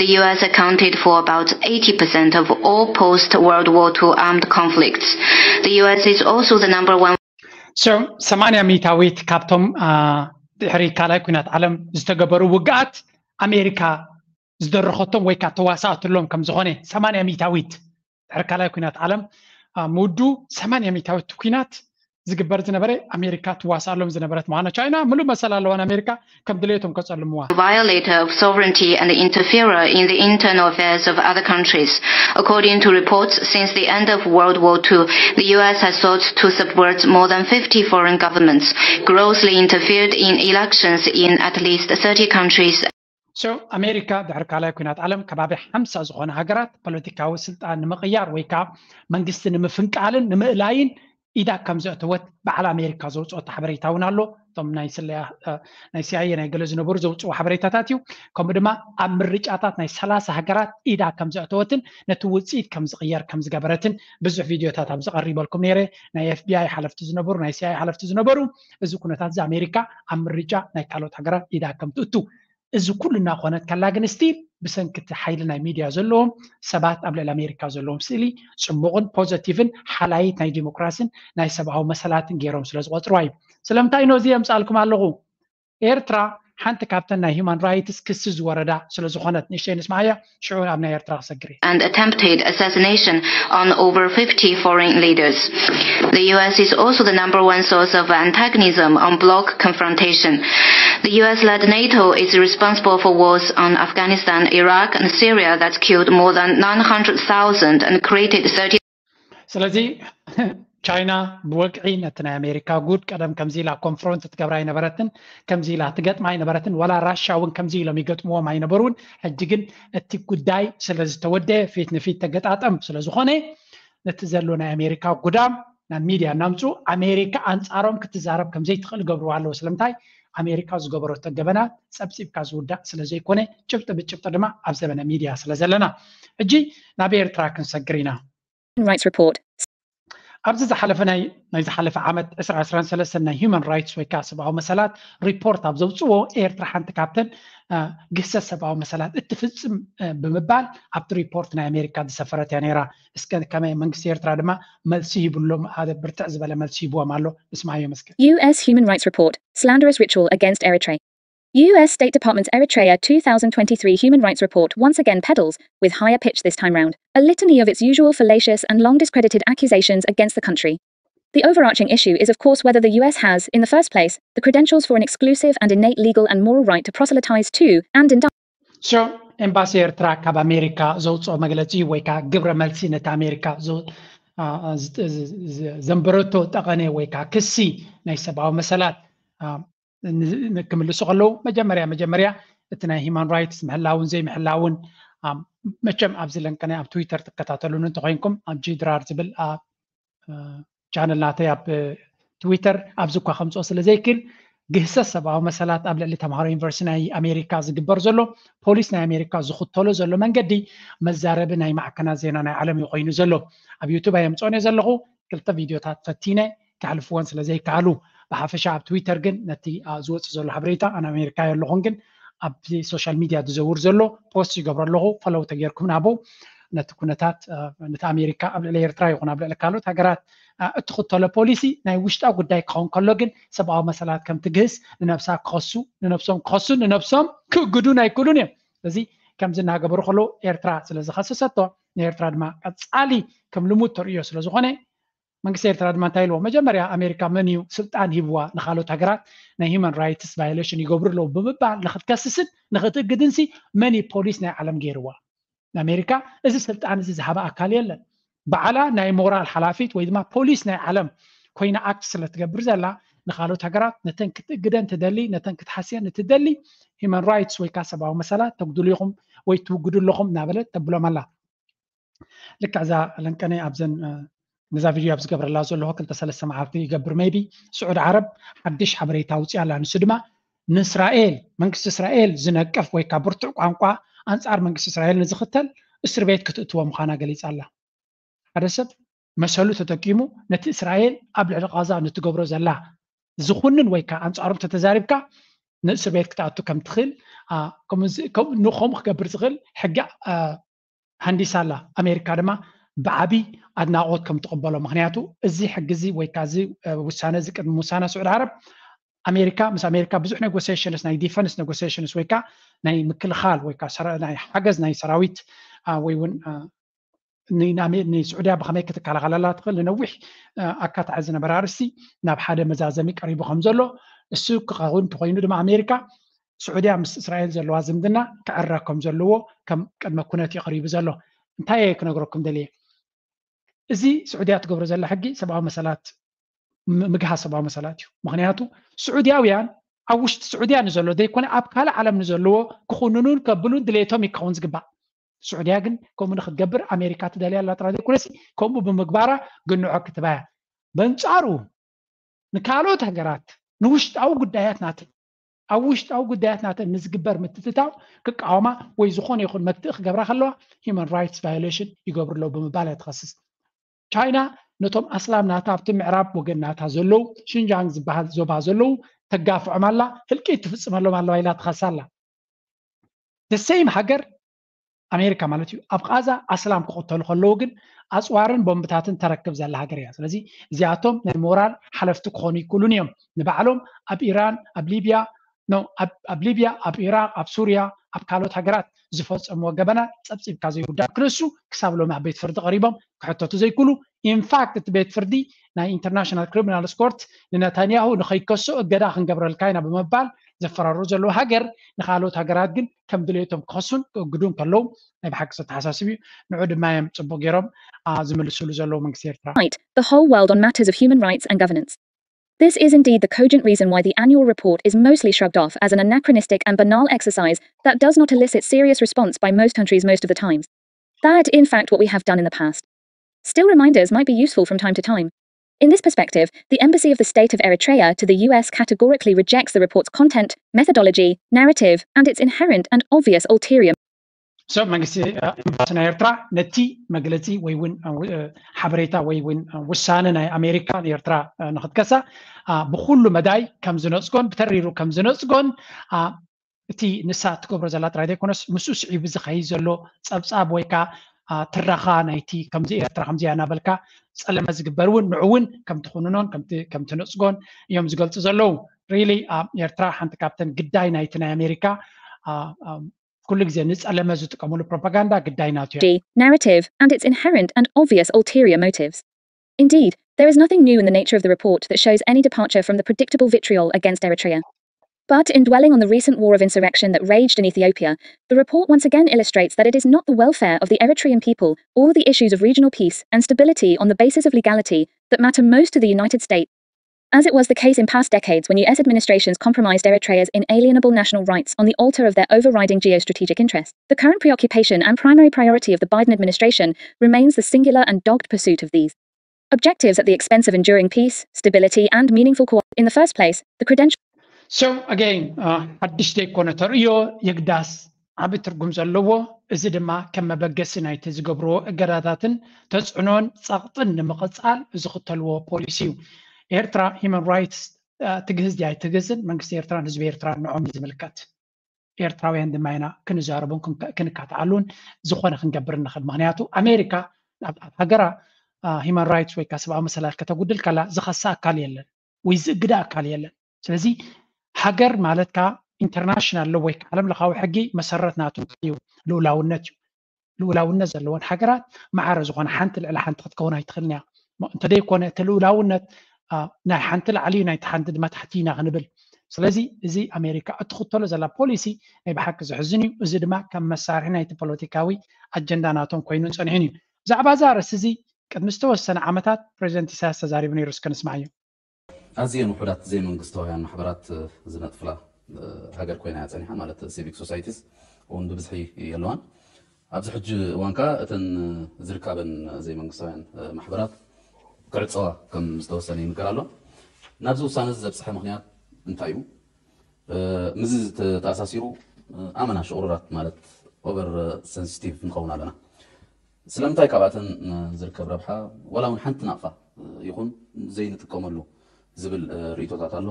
The U S accounted for about eighty percent of all post-World War two armed conflicts. The U S is also the number one. So ሰማንያ ሚታዊት ካብቶም ድሕሪ ካልኣይ ኩናት ዓለም ዝተገበሩ ውግኣት ኣሜሪካ ዝደረኸቶም ወይ ከዓ ተዋሳእትሎም ከም ዝኾነ ሰማንያ ሚታዊት ድሕሪ ካልኣይ ኩናት ዓለም ምውዱ ሰማንያ ሚታዊት ኩናት ዝግበር ዝነበረ ኣሜሪካ ትዋሳሎም ዝነበረት ምዃና ቻይና ምሉእ መሰል ኣለዋ ኣሜሪካ ከም ድሌቶም ከጸልምዋ። Violator of sovereignty and interferer in the internal affairs of other countries. According to reports, since the end of World War two, the U S has sought to subvert more than fifty foreign governments, grossly interfered in elections in at least thirty countries. So ኣሜሪካ ድሕሪ ካልኣይ ኩናት ዓለም ከባቢ ሓምሳ ዝኾነ ሃገራት ፖለቲካዊ ስልጣን ንምቕያር ወይ ከዓ መንግስቲ ንምፍንቃልን ንምእላይን ኢዳ ከም ዘእተወት በዓል ኣሜሪካ ዘውፅኦት ሓበሬታ እውን ኣሎ። እቶም ናይ ስለያ ናይ ሲኣይኤ ናይ ገለ ዝነበሩ ዘውፅዎ ሓበሬታታት እዩ። ከምኡ ድማ ኣብ ምርጫታት ናይ ሰላሳ ሃገራት ኢዳ ከም ዘእተወትን ነቲ ውፅኢት ከም ዝቕየር ከም ዝገበረትን ብዙሕ ቪድዮታት ኣብ ዝቐሪበልኩም ነይረ። ናይ ኤፍቢኣይ ሓለፍቲ ዝነበሩ ናይ ሲኣይኤ ሓለፍቲ ዝነበሩ እዚ ኩነታት እዚ ኣሜሪካ ኣብ ምርጫ ናይ ካልኦት ሃገራት ኢዳ ከም ትእቱ እዚ ኩሉ እናኾነት ከላ ግን ስቲል ብሰንኪ እቲ ሓይሊ ናይ ሚድያ ዘለዎም ሰባት ኣብ ልዕሊ ኣሜሪካ ዘለዎም ስእሊ ፅቡቕን ፖዘቲቭን ሓላይት ናይ ዲሞክራሲን ናይ ሰብኣዊ መሰላትን ገይሮም ስለ ዝቆፅርዋ እዩ። ስለምንታይ ነዚ የምፃልኩም ኣለኹ? ኤርትራ ሓንቲ ካብተን ናይ ሂማን ራይትስ ክሲ ዝወረዳ ስለ ዝኾነት ንእሽተይ ንስማዓያ ሽዑ ኣብ ናይ ኤርትራ ክሰግር እየ። And attempted assassination on over fifty foreign leaders. The U S is also the number one source of antagonism on bloc confrontation. The U S-led NATO is responsible for wars on Afghanistan, Iraq, and Syria that killed more than nine hundred thousand and created thirty ስለዚ ቻይና ብወግዒ ነቲ ናይ ኣሜሪካ ጉድ ቀደም ከምዚ ኢላ ኮንፍሮንት ትገብራ ኣይነበረትን፣ ከምዚ ኢላ ትገጥማ ኣይነበረትን፣ ዋላ ራሻ እውን ከምዚ ኢሎም ይገጥምዎም ኣይነበሩን። ሕጂ ግን እቲ ጉዳይ ስለ ዝተወደየ ፊት ንፊት ተገጣጠም ስለ ዝኾነ ነቲ ዘሎ ናይ ኣሜሪካ ጉዳም ናብ ሚድያ እናምፁ ኣሜሪካ ኣንፃሮም ክትዛረብ ከምዘይትኽእል ገብርዋ ኣለዉ። ስለምንታይ? ኣሜሪካ ዝገበረቶ ገበናት ፀብፂብካ ዝውዳእ ስለ ዘይኮነ ጭብጢ ብጭብጢ ድማ ኣብ ዘበነ ሚድያ ስለ ዘለና። ሕጂ ናብ ኤርትራ ክንሰግር ኢና። Rights Report. ኣብዚ ዝሓለፈ ናይ ናይ ዝሓለፈ ዓመት ዕስራ ዕስራን ሰለስተን ናይ ሂማን ራይትስ ወይ ከዓ ሰብኣዊ መሰላት ሪፖርት ኣብ ዘውፅዎ ኤርትራ ሓንቲ ካብተን ግህሰት ሰብኣዊ መሰላት እትፍፅም ብምባል ኣብቲ ሪፖርት ናይ ኣሜሪካ ዝሰፈረት እያ ነይራ። እስከ ከመይ መንግስቲ ኤርትራ ድማ መልሲ ሂብሎም ሓደ ብርትዕ ዝበለ መልሲ ሂብዎም ኣሎ። እስማዮ መስገን U S Human Rights Report, slanderous ritual against Eritrea. U S State Department's Eritrea two thousand twenty-three Human Rights Report once again peddles, with higher pitch this time round, a litany of its usual fallacious and long discredited accusations against the country. The overarching issue is, of course, whether the U S has, in the first place, the credentials for an exclusive and innate legal and moral right to proselytize to and indict. So ኤምባሲ ኤርትራ ካብ ኣሜሪካ ዘውፅኦ መግለፂ ወይ ከዓ ግብረ መልሲ ነቲ ኣሜሪካ ዘንበረቶ ጠቐነ ወይ ከዓ ክሲ ናይ ሰብኣዊ መሰላት ክምልሱ ከለዉ መጀመርያ መጀመርያ እቲ ናይ ሂማን ራይትስ ምሕላውን ዘይምሕላውን መቸም ኣብዚ ለንቀነ ኣብ ትዊተር ትከታተሉን እንተኮይንኩም ኣብ ጂድራር ዝብል ቻነል ናተይ ኣብ ትዊተር ኣብዚ እኳ ከምፅኦ ስለ ዘይክል ግህሰት ሰብኣዊ መሰላት ኣብ ልዕሊ ተምሃሮ ዩኒቨርሲቲ ናይ ኣሜሪካ ዝግበር ዘሎ ፖሊስ ናይ ኣሜሪካ ዝኽተሎ ዘሎ መንገዲ መዛረቢ ናይ ማዕከናት ዜና ናይ ዓለም እዩ ኮይኑ ዘሎ። ኣብ ዩቱብ ኣየምፅኦን እየ ዘለኹ። ክልተ ቪድዮታት ፈቲነ ከሕልፍወን ስለ ዘይከኣሉ ብሓፈሻ ኣብ ትዊተር ግን ነቲ ዝወፅእ ዘሎ ሓበሬታ ኣነ ኣሜሪካ የለኹን ግን ኣብዚ ሶሻል ሚድያ ዝዘውር ዘሎ ፖስት ይገብሮ ኣለኹ። ፈለው ተጌርኩም ናቦ ነቲ ኩነታት ነቲ ኣሜሪካ ኣብ ልዕሊ ኤርትራ ይኹን ኣብ ልዕሊ ካልኦት ሃገራት እትኽተሎ ፖሊሲ ናይ ውሽጣ ጉዳይ ክኸውን ከሎ ግን ሰብኣዊ መሰላት ከም ትግህስ ንነብሳ ክኸሱ ንነብሶም ክኸሱ ንነብሶም ክእግዱ ናይ ክእሉን እዮም። እዚ ከምዚ እናገበሩ ከለዉ ኤርትራ ስለ ዝኸሰሰቶ ንኤርትራ ድማ ቀፃሊ ከም ልሙድ ተርእዮ ስለ ዝኾነ መንግስቲ ኤርትራ ድማ እንታይ ኢልዎ መጀመርያ ኣሜሪካ መን እዩ ስልጣን ሂብዋ ንካልኦት ሃገራት ናይ ሂማን ራይትስ ቫዮሌሽን ይገብሩ ኣለዉ ብምባል ንክትከስስን ንክትእግድንሲ መን እዩ ፖሊስ ናይ ዓለም ገይርዋ? ንኣሜሪካ እዚ ስልጣን እዚ ዝሃበ ኣካል የለን። ባዕላ ናይ ሞራል ሓላፊት ወይ ድማ ፖሊስ ናይ ዓለም ኮይና ኣክት ስለ ትገብር ዘላ ንካልኦት ሃገራት ነተን ክትእግደን ትደሊ ነተን ክትሓስየን እትደሊ ሂማን ራይትስ ወይ ከዓ ሰብኣዊ መሰላት ተጉድሉ ኢኹም ወይ ትውግዱ ኣለኹም እናበለት ተብሎም ኣላ። ልክዕ እዛ ለንቀነ ኣብዘን ነዛ ቪድዮ ኣብ ዝገብረላ ዘለኹ ክልተ ሰለስተ መዓልቲ ይገብር maybe ስዑድ ዓረብ ሓድሽ ሓበሬታ ኣውፅኣ ኣላ። ንሱ ድማ ንእስራኤል መንግስቲ እስራኤል ዝነቅፍ ወይ ከዓ ብርቱዕ ቋንቋ ኣንፃር መንግስቲ እስራኤል ንዝኽተል እስር ቤት ክትእትዎ ምዃና ገሊፃ ኣላ። ሓደ ሰብ መሰሉ ተጠቂሙ ነቲ እስራኤል ኣብ ልዕሊ ቃዛ ንትገብሮ ዘላ ዝኹንን ወይ ከዓ ኣንፃሮም ተተዛሪብካ ንእስር ቤት ክትኣቱ ከም ትኽእል፣ ከምኡ ከምኡ ክገብር ዝኽእል ሕጊ ሃንዲሳ ኣላ። ኣሜሪካ ድማ ብዓቢ ኣድናቖት ከም ትቕበሎ፣ ምክንያቱ እዚ ሕጊ እዚ ወይ ከዓ እዚ ውሳነ እዚ ቅድሚ ውሳነ ስዑድ ዓረብ ኣሜሪካ ምስ ኣሜሪካ ብዙሕ ኔጎሲሽንስ፣ ናይ ዲፈንስ ኔጎሲሽንስ ወይ ከዓ ናይ ምክልኻል ወይ ከዓ ናይ ሓገዝ ናይ ሰራዊት ወይ እውን ንስዑድያ ብከመይ ክትከላኸለላ ትኽእል ንነዊሕ ኣካታዒ ዝነበረ ኣርስቲ ናብ ሓደ መዛዘሚ ቀሪቡ ከም ዘሎ፣ እሱ ክኸውን እንተኮይኑ ድማ ኣሜሪካ ስዑድያ ምስ እስራኤል ዘለዋ ዝምድና ክዕረ ከም ዘለዎ ከም ቅድመ ኩነት እዩ ቀሪቡ ዘሎ። እንታይ እየ ክነግረኩም ደልየ? እዚ ስዑድያ ትገብሮ ዘላ ሕጊ ሰብኣዊ መሰላት ምግሃስ ሰብኣዊ መሰላት እዩ። ምክንያቱ ስዑድያውያን ኣብ ውሽጢ ስዑድያ ንዘሎ ዘይኮነ ኣብ ካልእ ዓለም ንዘለዎ ክኹንኑን ከብሉን ድሌቶም ይከውን ዝግባእ። ስዑድያ ግን ከምኡ ንክትገብር ኣሜሪካ ትደልያ ኣላ ጥራይ ዘይኮነሲ ከምኡ ብምግባራ ግንዖ ክትባያ በንጻሩ ንካልኦት ሃገራት ንውሽጣዊ ጉዳያት ናተን ኣብ ውሽጣዊ ጉዳያት ናተን ንዝግበር ምትትታው ክቃወማ ወይ ዝኾነ ይኹን መትእ ክገብራ ከለዋ human rights violation ይገብሩ ኣለዉ ብምባል እያ ትኸስስ። ቻይና ነቶም ኣስላም ናታ ኣብቲ ምዕራብ ወገን ናታ ዘለዉ ሽንጃንግ ዝበሃል ዞባ ዘለዉ ተጋፍዖም ኣላ፣ ህልቂት ትፍጽመሎም ኣለዋ ኢላ ትኸሳ ኣላ። The same ሃገር ኣሜሪካ ማለት እዩ ኣብ ቃዛ ኣስላም ክቕተሉ ከለዉ ግን ኣፅዋርን ቦምብታትን ተረክብ ዘላ ሃገር እያ። ስለዚ እዚኣቶም ናይ ሞራል ሓለፍቲ ክኾኑ ይክእሉን እዮም። ንባዕሎም ኣብ ኢራን ኣብ ሊብያ ኖ ኣብ ሊብያ ኣብ ኢራቅ ኣብ ሱርያ ኣብ ካልኦት ሃገራት ዝፈፀምዎ ገበናት ፀብፂብካ ዘይውዳእ ክነሱ ክሳብ ሎሚ ኣብ ቤት ፍርዲ ቀሪቦም ክሕተቱ ዘይክእሉ። ኢንፋክት እቲ ቤት ፍርዲ ናይ ኢንተርናሽናል ክሪሚናል ስኮርት ንነታንያሁ ንኸይከሶ እገዳ ክንገብረልካ ኢና ብምባል ዘፈራሩ ዘለዉ ሃገር ንካልኦት ሃገራት ግን ከም ድሌቶም ክኸሱን ክእግዱን ከለዉ ናይ ብሓቂ ዘተሓሳስብ እዩ። ንዑ ድማ እዮም ፅቡቅ ገይሮም ዝምልስሉ ዘለዉ መንግስቲ ኤርትራ። The whole world on matters of human rights and governance. This is indeed the cogent reason why the annual report is mostly shrugged off as an anachronistic and banal exercise that does not elicit serious response by most countries most of the times. That, in fact, what we have done in the past. Still, reminders might be useful from time to time. In this perspective, the Embassy of the State of Eritrea to the U S categorically rejects the report's content, methodology, narrative, and its inherent and obvious ulterior ሰብ መንግስቲ ኤምባሲ ናይ ኤርትራ ነቲ መግለፂ ወይ እውን ሓበሬታ ወይ እውን ውሳነ ናይ ኣሜሪካ ንኤርትራ ንክትከሳ ብኩሉ መዳይ ከም ዝነፅጎን ብተሪሩ ከም ዝነፅጎን እቲ ንሳ ትገብሮ ዘላ ጥራይ ዘይኮነስ ምስኡ ስዒቡ ዝኸይድ ዘሎ ፀብፃብ ወይ ከዓ ትረኻ ናይቲ ከምዚ ኤርትራ ከምዚ እያ እናበልካ ፀለመ ዝግበር እውን ንዑ እውን ከም ትኹንኖን ከም ትነፅጎን እዮም ዝገልፁ ዘለዉ። ሪሊ ኤርትራ ሓንቲ ካብተን ግዳይ ናይቲ ናይ ኣሜሪካ ኩሉ ግዜ ንፀለመ ዝጥቀምሉ ፕሮፓጋንዳ ግዳይ ናቱ እያ። narrative and its inherent and obvious ulterior motives. Indeed, there is nothing new in the nature of the report that shows any departure from the predictable vitriol against Eritrea. But in dwelling on the recent war of insurrection that raged in Ethiopia, the report once again illustrates that it is not the welfare of the Eritrean people or the issues of regional peace and stability on the basis of legality that matter most to the United States, as it was the case in past decades when U S administrations compromised Eritrea's inalienable national rights on the altar of their overriding geostrategic interest. The current preoccupation and primary priority of the Biden administration remains the singular and dogged pursuit of these objectives at the expense of enduring peace, stability, and meaningful co-op. In the first place, the credential So again ሓድሽ ዘይኮነ ተርእዮ የግዳስ ዓቢ ትርጉም ዘለዎ፣ እዚ ድማ ከም መበገሲ ናይቲ ዝገብርዎ እገዳታትን ተጽዕኖን ጸቕጥን ንምቕጻል ዝኽተልዎ ፖሊሲ እዩ። ኤርትራ human rights ትግህዝ ድያ ኣይትግህዝን መንግስቲ ኤርትራን ህዝቢ ኤርትራን ንዖም እዩ ዝምልከት። ኤርትራውያን ድማ ኢና ክንዛረቡን ክንከታተሉን ዝኾነ ክንገብር ንኽእል። ምኽንያቱ ኣሜሪካ ኣብ ሃገራ human rights ወይ ከዓ ሰብኣዊ መሰላት ከተጉድል ከላ ዝኸሳ ኣካል የለን ወይ ዝእግዳ ኣካል የለን። ስለዚ ሃገር ማለት ከዓ ኢንተርናሽናል ሎ ወይ ከዓ ዓለም ለኻዊ ሕጊ መሰረት ናቱ እንታይ እዩ? ልኡላውነት እዩ። ልኡላውነት ዘለወን ሃገራት ማዕረ ዝኾነ ሓንቲ ልዕሊ ሓንቲ ክትከውን ኣይትኽእልን እያ። እንተደይኮነ እቲ ልኡላውነት ናይ ሓንቲ ላዕሊ እዩ ናይቲ ሓንቲ ድማ ታሕቲ ኢና ክንብል። ስለዚ እዚ ኣሜሪካ እትኽተሎ ዘላ ፖሊሲ ናይ ብሓቂ ዘሕዝን እዩ። እዚ ድማ ከም መሳርሒ ናይቲ ፖለቲካዊ ኣጀንዳ ናቶም ኮይኑን ፀኒሑን እዩ። ብዛዕባ እዚ ኣርእስቲ እዚ ቅድሚ ዝተወሰነ ዓመታት ፕሬዚደንት ኢሳያስ ተዛሪቡ ነይሩ። እስከ ንስማዓዮ። ኣዝየን ውሑዳት ዘይመንግስታውያን ማሕበራት ዝነጥፍላ ሃገር ኮይና እያ ጸኒሓ፣ ማለት ሲቪክ ሶሳይቲስ እውን ብብዝሒ የለዋን። ኣብዚ ሕጂ እዋን ከኣ እተን ዝርካበን ዘይመንግስታውያን ማሕበራት ክዕጸዋ ከም ዝተወሰነ ይንገር ኣሎ። ናብዚ ውሳነ እዚ ዘብጽሐ ምኽንያት እንታይ እዩ? ምስዚ ተኣሳሲሩ ኣመና ሽቑሩራት ማለት ኦቨር ሰንሲቲቭ ንኸውን ኣለና። ስለምንታይ ካብኣተን ዝርከብ ረብሓ ዋላ እውን ሓንቲ ናቕፋ ይኹን ዘይንጥቀመሉ ዝብል ርእይቶታት ኣሎ።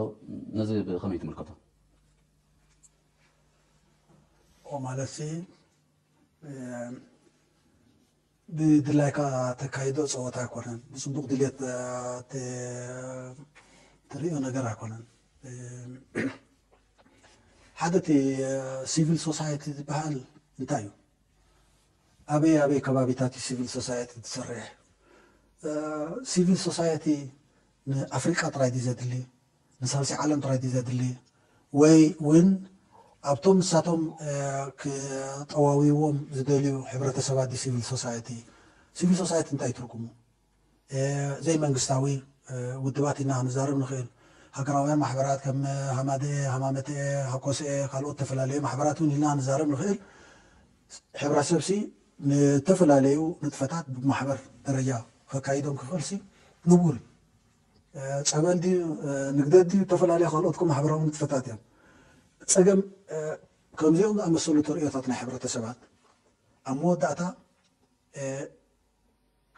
ነዚ ብኸመይ ትምልከቶ? ማለት ብድላይካ ተካይዶ ፀወታ ኣይኮነን። ብፅቡቅ ድሌት ትሪኦ ነገር ኣይኮነን። ሓደ እቲ ሲቪል ሶሳይቲ ዝበሃል እንታይ እዩ? ኣበይ ኣበይ ከባቢታት እዩ ሲቪል ሶሳይቲ ትሰርሕ? ሲቪል ሶሳይቲ ንኣፍሪቃ ጥራይ ድዩ ዘድሊ? ንሳልሲ ዓለም ጥራይ ድዩ ዘድሊ? ወይ እውን ኣብቶም ንሳቶም ክጠዋውይዎም ዝደልዩ ሕብረተሰባት ድዩ ሲቪል ሶሳይቲ? ሲቪል ሶሳይቲ እንታይ ትርጉሙ? ዘይመንግስታዊ ውድባት ኢና ክንዛረብ ንኽእል። ሃገራውያን ማሕበራት ከም ሃማደኤ፣ ሃማመተኤ፣ ሃኮሰኤ፣ ካልኦት ዝተፈላለዩ ማሕበራት እውን ኢልና ክንዛረብ ንኽእል። ሕብረተሰብሲ ንተፈላለዩ ንጥፈታት ብማሕበር ደረጃ ከካይዶም ክኽእልሲ ንቡር እዩ። ጸበል ድዩ፣ ንግደት ድዩ፣ ዝተፈላለዩ ካልኦት ማሕበራዊ ንጥፈታት እዮም። ጸገም ከምዚኦም ዝኣመሰሉ ተርእዮታት ናይ ሕብረተሰባት ኣብ መወዳእታ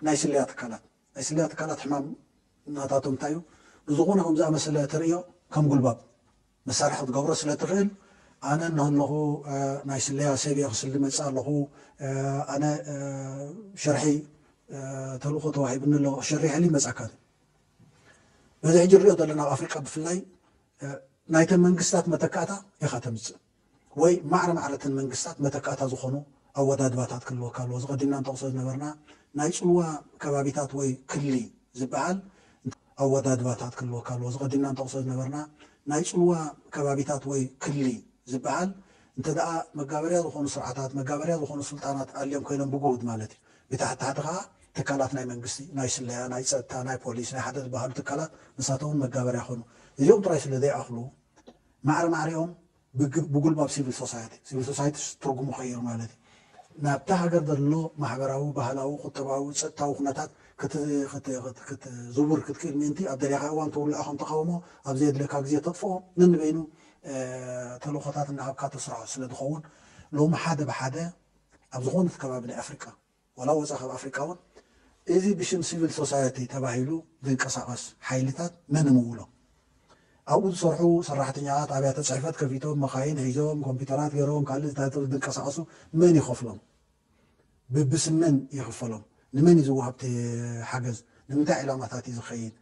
ናይ ስለያ ትካላት ናይ ስለያ ትካላት ሕማም ናታቶም እንታይ እዩ? ንዝኾነ ከም ዝኣመሰለ ተርእዮ ከም ጉልባብ መሳርሒ ክትገብሮ ስለ ትኽእል፣ ኣነ እናሃለኹ ናይ ስለያ ሰብ እየ ክስሊ መፅእ ኣለኹ፣ ኣነ ሸርሒ ተልእኾ ተዋሂብኒ ኣሎ ሸሪሐሊ ይመፅኣካ። በዚ ሕጂ ንሪኦ ዘለና ኣብ ኣፍሪቃ ብፍላይ ናይተን መንግስታት መተካእታ ኢኻ ተምፅእ ወይ ማዕረ ማዕረተን መንግስታት መተካእታ ዝኾኑ ኣወዳድባታት ክህልወካ ኣለዎ። ዝቐዲምና ንጠቕሶ ዝነበርና ናይ ፅልዋ ከባቢታት ወይ ክሊ ዝበሃል ኣወዳድባታት ክህልወካ ኣለዎ። ዝቐዲምና ንጠቕሶ ዝነበርና ናይ ፅልዋ ከባቢታት ወይ ክሊ ዝበሃል እንተ ደኣ መጋበርያ ዝኾኑ ስርዓታት መጋበርያ ዝኾኑ ስልጣናት ኣልዮም ኮይኖም ብጉሁድ ማለት እዩ። ብታሕቲ ታሕቲ ከዓ ትካላት ናይ መንግስቲ ናይ ስለያ ናይ ፀጥታ ናይ ፖሊስ ናይ ሓደ ዝበሃሉ ትካላት ንሳቶም እውን መጋበርያ ይኾኑ። እዚኦም ጥራይ ስለ ዘይኣኽሉ ማዕረ ማዕሪኦም ብጉልባብ ሲቪል ሶሳይቲ ሲቪል ሶሳይቲ ትርጉሙ ቀይሩ ማለት እዩ። ናብታ ሃገር ዘሎ ማሕበራዊ ባህላዊ ቁጠባዊ ፀጥታዊ ኩነታት ክትዝውር ክትክእል ምእንቲ ኣብ ደለኻ እዋን ትውልዖ ከም ተቃውሞ ኣብ ዘየድለካ ግዜ ተጥፍኦ ነንበይኑ ተልእኾታት እናሃብካ ተስርሖ ስለ ዝኸውን ሎሚ ሓደ ብሓደ ኣብ ዝኾነት ከባቢ ናይ ኣፍሪቃ ዋላ ወፃ ካብ ኣፍሪቃ እውን እዚ ብሽም ሲቪል ሶሳይቲ ተባሂሉ ዝንቀሳቐስ ሓይልታት መን ምውሎ ኣብኡ ዝሰርሑ ሰራሕተኛታት ኣብያተ ፅሕፈት ከፊቶም መኻይን ሒዞም ኮምፒውተራት ገይሮም ካልእ ዝንቀሳቐሱ መን ይኸፍሎም? ብብስም መን ይኽፈሎም? ንመን እዩ ዝወሃብ እቲ ሓገዝ? ንምንታይ ዕላማታት እዩ ዝኸይድ?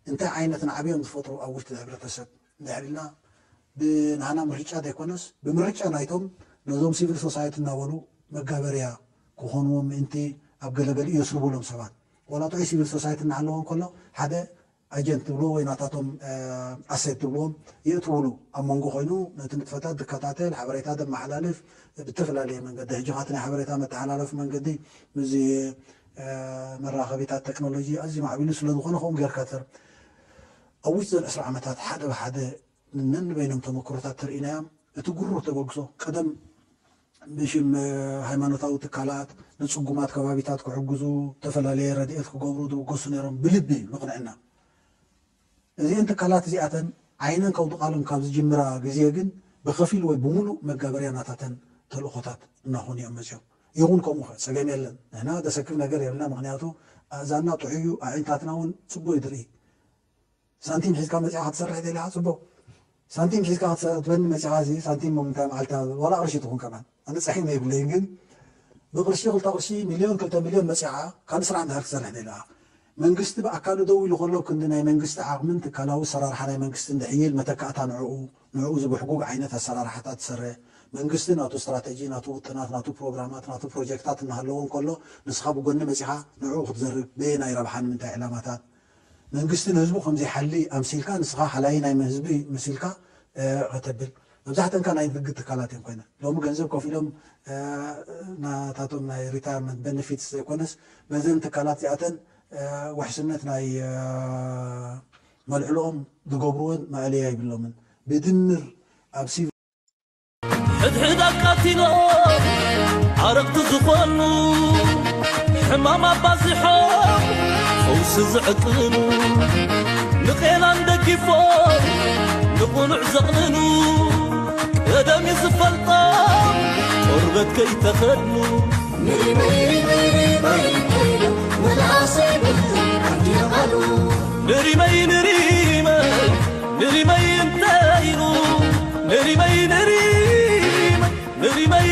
እንታይ ዓይነት ናዕብዮም ዝፈጥሩ ኣብ ውሽጢ ሕብረተሰብ እንድሕር ኢልና ብናህና ምርጫ ዘይኮነስ ብምርጫ ናይቶም ነዞም ሲቪል ሶሳይቲ እናበሉ መጋበርያ ክኾንዎም ምእንቲ ኣብ ገለገሊኡ የስርቡሎም ሰባት ዋላ ጥዑይ ሲቪል ሶሳይቲ እናሃለዎ እንከሎ ሓደ ኣጀንት ትብልዎ ወይ ናታቶም ኣሴት ትብልዎም የእትውሉ ኣብ መንጎ ኮይኑ ነቲ ንጥፈታት ዝከታተል ሓበሬታ ዘመሓላልፍ ብተፈላለየ መንገዲ ሕጂ ካቲ ናይ ሓበሬታ መተሓላለፊ መንገዲ እዚ መራኸቢታት ቴክኖሎጂ ኣዝዩ ማዕቢሉ ስለ ዝኾነ ከምኡ ጌርካ ትር ኣብ ውሽጢ ዘን ዕስራ ዓመታት ሓደ ብሓደ ነንበይኖም ተመክሮታት ተርኢናዮም እቲ ጉሩህ ተበግሶ ቀደም ብሽም ሃይማኖታዊ ትካላት ንፅጉማት ከባቢታት ክሕግዙ ዝተፈላለየ ረድኤት ክገብሩ ዝብገሱ ነይሮም ብልቢ ምቕንዕና እዚአን ትካላት እዚኣተን ዓይነን ከውድቓሎም ካብ ዝጅምራ ግዜ ግን ብኸፊል ወይ ብምሉእ መጋበርያ ናታተን ተልእኾታት እናኾኑ እዮም መፅዮም። ይኹን ከምኡ ኸ ፀገም የለን። ንሕና ዘሰክፍ ነገር የብልና። ምኽንያቱ ኣእዛንና ጥዑይ እዩ፣ ኣዒንታትና እውን ፅቡቅ እዩ ዝርኢ። ሳንቲም ሒዝካ መፂኻ ክትሰርሕ ደሊኻ ፅቡቅ። ሳንቲም ሒዝካ ክትበኒ መፂኻ እዚ ሳንቲም ምንታይ መዓልታ ዋላ ቅርሺ ትኹን ከማን ኣነ ፀሒም የብለይን ግን ብቅርሺ ክልተ ቅርሺ ሚልዮን ክልተ ሚልዮን መፂኻ ካልእ ስራሕ እንድሕር ክትሰርሕ ደሊኻ መንግስቲ ብኣካሉ ደው ኢሉ ከሎ ክንዲ ናይ መንግስቲ ዓቕምን ትካላዊ ኣሰራርሓ ናይ መንግስቲ እንድሕይል መተካእታ ንዕኡ ንዕኡ ዝብሕጉግ ዓይነት ኣሰራርሓታት ትሰርሕ መንግስቲ ናቱ ስትራተጂ ናቱ ውጥናት ናቱ ፕሮግራማት ናቱ ፕሮጀክታት እናሃለዎ እንከሎ ንስኻ ብጎኒ መፂኻ ንዕኡ ክትዘርግ በየናይ ረብሓ ንምንታይ ዕላማታት መንግስቲ ንህዝቡ ከምዘይሓሊ ኣምሲልካ ንስኻ ሓላይ ናይ ህዝቢ መሲልካ ከተብል መብዛሕተንካ ናይ ንግድ ትካላት እዮም ኮይነ ሎሚ ገንዘብ ከፊሎም ናታቶም ናይ ሪታርመንት ቤነፊትስ ዘይኮነስ በዘን ትካላት እዚኣተን ውሕስነት ናይ መልዕልኦም ዝገብርዎን መእለያ ይብሎምን ብድምር ኣብ ሲቪል ሕድሕድ ኣቃቲሎም ዓረቕቲ ዝኾኑ ሕማም ኣባዚሖም ፈውሲ ዝዕቅኑ ንቄናን ደጊፎም ንቑኑዕ ዘቕንኑ ቀደም እዩ ዝፈልጦም ቆርበት ከይተኸድኑ ንሪመይ ንሪመይ መልኣሰይ ብልዕም ኣዲማሉ ንሪመይ ንሪመይ ንሪመይ እንታይ ኢሉ ንሪመይ ንሪመይ ንሪመይ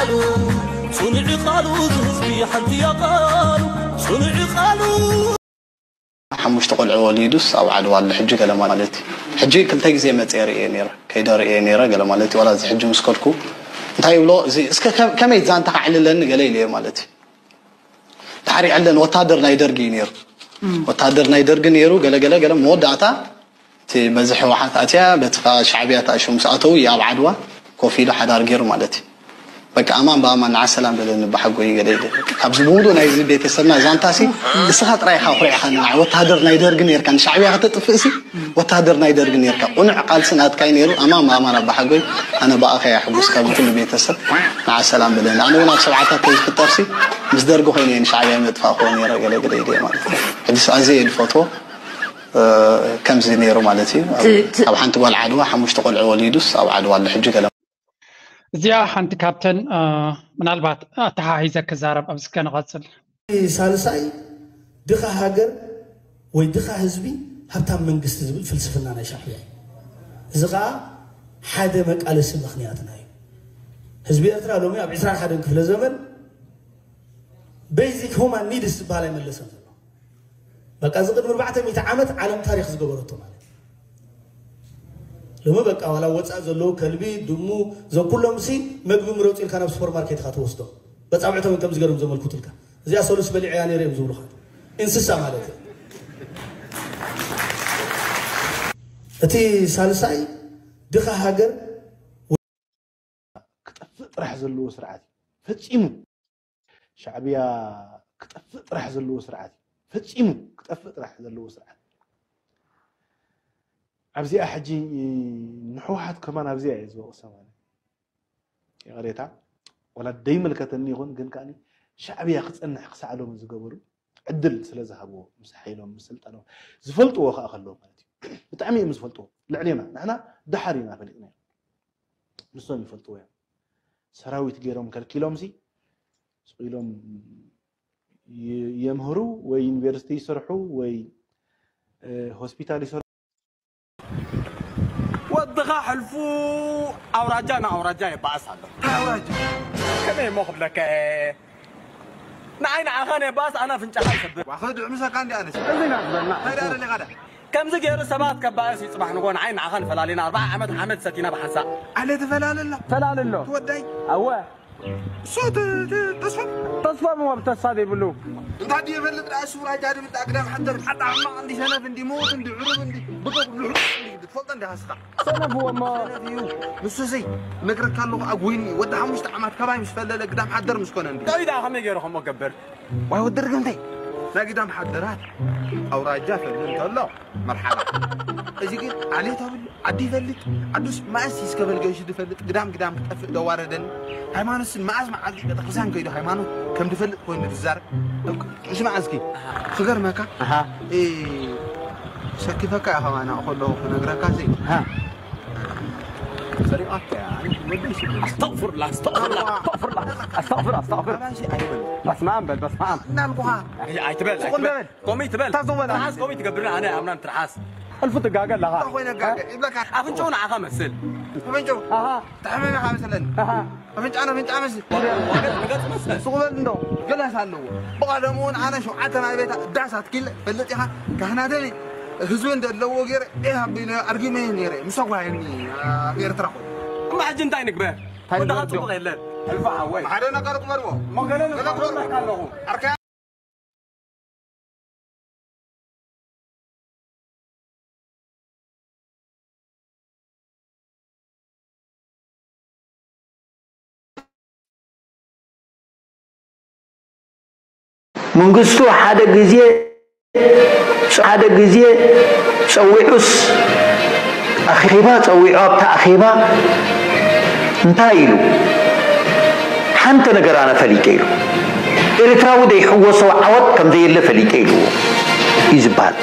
ጽኑዕ ቃሉ፣ እዚ ህዝቢ ሓንቲ እያ ቃሉ፣ ጽኑዕ ቃሉ። ሓሙሽተ ቆልዑ ወሊዱስ ኣብ ዓድዋ ኣሎ ሕጂ ገለ ማለት እዩ። ሕጂ ክልተ ግዜ መጽየ ርእየ ነይረ፣ ከይደ ርእየ ነይረ ገለ ማለት እዩ። ዋላ እዚ ሕጂ ምስ ከድኩ እንታይ ይብሎ፣ እዚ እስከ ከ-፣ ከመይ ዛንታ ከዕልለኒ ገለ ኢለዮ ማለት እዩ። ድሓር ይዕለን ወታደር ናይ ደርጊ እዩ ነይሩ። ወታደር ናይ ደርጊ ነይሩ፣ ገለ ገለ ገለ መወዳእታ እቲ በዚ ህወሓት ኣትያ፣ በቲ ኸኣ ሻዕብያ ተኣሽሙ ምስ ኣተዉ እዩ ኣብ ዓድዋ ኮፍ ኢሉ ሓዳር ገይሩ ማለት እዩ። በቃ ኣማን ብኣማን ንዓ ሰላም በለኒ ብሓጎይ ገለ ኢለ። በቃ ካብዚ ብምሉእ ናይዚ ቤተሰብና ዛንታሲ ንስኻ ጥራይ ኢኻ ኣኹሪዕኻኒ። ንዓ ወታደር ናይ ደርጊ ነይርካ፣ ንሻዕብያ ከተጥፍእሲ ወታደር ናይ ደርጊ ነይርካ። ቅኑዕ ቃልሲ ናትካ እዩ ነይሩ። ኣማን ብኣማን ኣባ ሓጎይ፣ ኣነ ብኣኻ እየ ሕጉስ ካብዚ ኩሉ ቤተሰብ። ንዓ ሰላም በለኒ። ኣነ እውን ኣብ ሰብዓታት ተዝፍጠርሲ ምስ ደርጊ ኮይነ እየ ንሻዕብያ መጥፋእክዎ ነይረ ገለ ገለ ኢለ ማለት እዩ። ሕጂስ ኣዝየ እየ ዝፈትዎ። እ፣ ከምዚ ነይሩ ማለት እዩ። እቲ፣ እቲ ኣብ ሓንቲ ጓል ዓድዋ ሓሙሽተ ቆልዑ ወሊዱስ ኣብ ዓድዋ ኣሎ ሕጂ ገለ። እዚኣ ሓንቲ ካብተን፣ እ፣ ምናልባት ኣተሓሒዘ ክዛረብ ኣብዚ ከንቐጽል። ሳልሳይ ድኻ ሃገር ወይ ድኻ ህዝቢ ሃብታም መንግስቲ ዝብል ፍልስፍና ናይ ሻዕብያ እዩ። እዚ ኸኣ ሓደ መቃለሲ ምኽንያትና እዩ። ህዝቢ ኤርትራ ሎሚ ኣብ ዕስራን ሓደን ክፍለ ዘመን ቤዚክ ሁማን ኒድስ ዝበሃል ኣይመለሰን ዘሎ። በቃ እዚ ቅድሚ ኣርባዕተ ሚእቲ ዓመት ዓለም ታሪኽ ዝገበረቶ ማለት እዩ። ሎሚ በቃ ዋላ ወፃእ ዘለዉ ከልቢ፣ ድሙ፣ እዞም ኩሎም ሲ መግቢ ምረፁ ኢልካ ናብ ሱፐርማርኬት ኢኻ ትወስዶ። በፃብዕቶም ከም ዝገርም ዘመልኩትልካ። እዚኣ ሰሉስ በሊዐያ ነይረ እዮም ዝብሉኻ። እንስሳ ማለት እዩ። እቲ ሳልሳይ ድኻ ሃገር ክጠፍእ ጥራሕ ዘለዎ ስርዓት እዩ። ፈጺሙ ሻዕብያ ክጠፍእ ጥራሕ ዘለዎ ስርዓት እዩ። ፈጺሙ ክጠፍእ ጥራሕ ዘለዎ ስርዓት። ኣብዚኣ ሕጂ ንሕወሓት ከማን ኣብዚኣ እየ ዝወቕሳ ማለት እዩ። ይቕሬታ፣ ወላ ደይመልከተኒ ይኹን፣ ግን ከኣ ሻዕብያ ክጸንሕ ክሳዕ ሎሚ ዝገበሩ ዕድል ስለ ዝሃብዎ፣ ምስ ሓይሎም፣ ምስ ስልጣኖም፣ ዝፈልጥዎ ከኣ ከለዉ ማለት እዩ። ብጣዕሚ እዮም ዝፈልጥዎ፣ ልዕሌና። ንሕና ደሓር ኢና ፈሊጥናዮ። ንሶም ይፈልጥዎ እዮም። ሰራዊት ገይሮም ከልኪሎምሲ፣ ስቕ ኢሎም ይ-፣ የምህሩ ወይ ዩኒቨርሲቲ ይሰርሑ ወይ፣ እ፣ ሆስፒታል ይሰርሑ። ወድኻ ሕልፉ ኣውራጃ ንኣውራጃ የባእስ ኣሎ። እንታይ ኣውራጃ? ከመይ እሞ ክብለካ እየ? ንዓይ ንዓኻ ነባእስ፣ ኣነ ኣፍንጫኻ ይሰብር። ዋ፣ ኸድዕ ምሳካ እንዲ ኣነስ። እዚ ኢና ዝበልና። እንታይ ደኣ ደሊኻ ደኣ? ከምዚ ገይሩ ሰባት ከባእስ እዩ ጽባሕ ንግሆ ንዓይ ንዓኻ ንፈላሊና ኣርብዓ ዓመት ሓመድ ሰቲና ብሓንሳእ። ኣነ ትፈላሊ ኣሎ። ትፈላሊ ኣሎ። ትወዳይ። ኣወ። እሱ ት-፣ ት-፣ ተስፋ። ተስፋ ምዋብ ተስፋ ዘይብሉ። እንታይ ድዩ ይፈልጥ ደኣ እሱ፣ ራጃ ድብል ደኣ ግዳም ሓደር። ሓዳ ሕማቕ እንዲ ሰነፍ እንዲ ምዉት እንዲ ዕሩብ እንዲ ብጡቕ እንዲ ሕሉፍ እንዲ ትፈልጦ እንዲ ሃስኻ። ሰነፍ እዎ እሞ። ሰነፍ እዩ። ንሱ ሲ ነግረካ ኣለኹ ኣጉይኒ ወዲ ሓሙሽተ ዓማት ካባይ ምስ ፈለለ ግዳም ሓደር ምስ ኮነ እንዲ። እንታይ ደኣ ከመይ ገይሩ ከምኡ ገብር? ዋይ ወዲ ርግምተይ። ናይ ግዳም ሓደራት ኣውራጃ ፈልል እንተሎ መርሓባ። እዚ ግን ዓሌት ኣብሉ ዓዲ ይፈልጥ። ዓዱስ መኣስ እስከ በል ገይሹ ዝፈልጥ? ግዳም ግዳም ክጠፍእ ደዋረደኒ። ሃይማኖትስ መኣዝ መዓልቲ ቤተክርስትያን ከይዱ ሃይማኖት ከም ዝፈልጥ ኮይኑ ዝዛረብ? እስማዕ እስኪ፣ ክገርመካ፣ ኣሃ። እ፣ ሰኪፈካ እያ ከማና ከለኹ ክነግረካ ሲ። ኣሃ። ሰሪቓካ እያ፣ ኣነ ወደይ ስለ ኣስተግፍሩላ፣ ኣስተግፍሩላ፣ ኣዋ። ኣስተግፍር፣ ኣስተግፍር፣ ኣስተግፍር። ኣባይሲ ኣይበል። በስመ ኣብ በል፣ በስመ ኣብ። እናልኩኻ። ኣይ፣ ኣይትበል፣ ስቕ ኣይትበል። በል። ኮሚት በል። ታዞ በል። ትርሓስ ኮሚት ገብርና፣ ኣነ ኣምናን ትርሓስ። እልፉ ትጋገ ኣለኻ። እንታይ ኮይነ ጋገ? ይብለካ። ኣፍንጫኡ ንዓኻ መስል። ኣፍንጫኡ? ኣሃ። ተሓመመ ኢኻ መሰለኒ። ኣሃ። ኣፍንጫ ንኣፍንጫ መስል። ገጽ፣ ገጽ መስል። ስቕ በል እንዶ። ገላስ ኣለዎ። ብቐደሙ እውን ኣነ ሸውዓተ ማይ ቤት ዳስ ኣትኪለ ፈልጥ ኢኻ። ካህናተኒ ህዝቢ እንደለዎ ገይረ፣ ኤህ ኣቢለ ኣርጊመ ነይረ። ምስ ኣጓየኒ ኣብ ኤርትራ ኮይኑ። እሞ ሕጂ እንታይ ንግበር? እንታይ ወድኻ ንግበር? ጽቡቕ የለን። ሕልፎ ሓወይ። ሓደ ነገር ግበርዎ። እሞ ገለ ገለ ግበርዎ። ኣለኹ። ኣርካ መንግስቱ ሓደ ግዜ፣ ሓደ ግዜ ጸዊዑስ፣ ኣኼባ ጸዊዑ፣ ኣብታ ኣኼባ እንታይ ኢሉ? ሓንቲ ነገር ኣነ ፈሊጠ ኢሉ። ኤርትራዊ ዘይሕወሶ ዓወት ከም ዘየለ ፈሊጠ ኢልዎ እዩ ዝበሃል።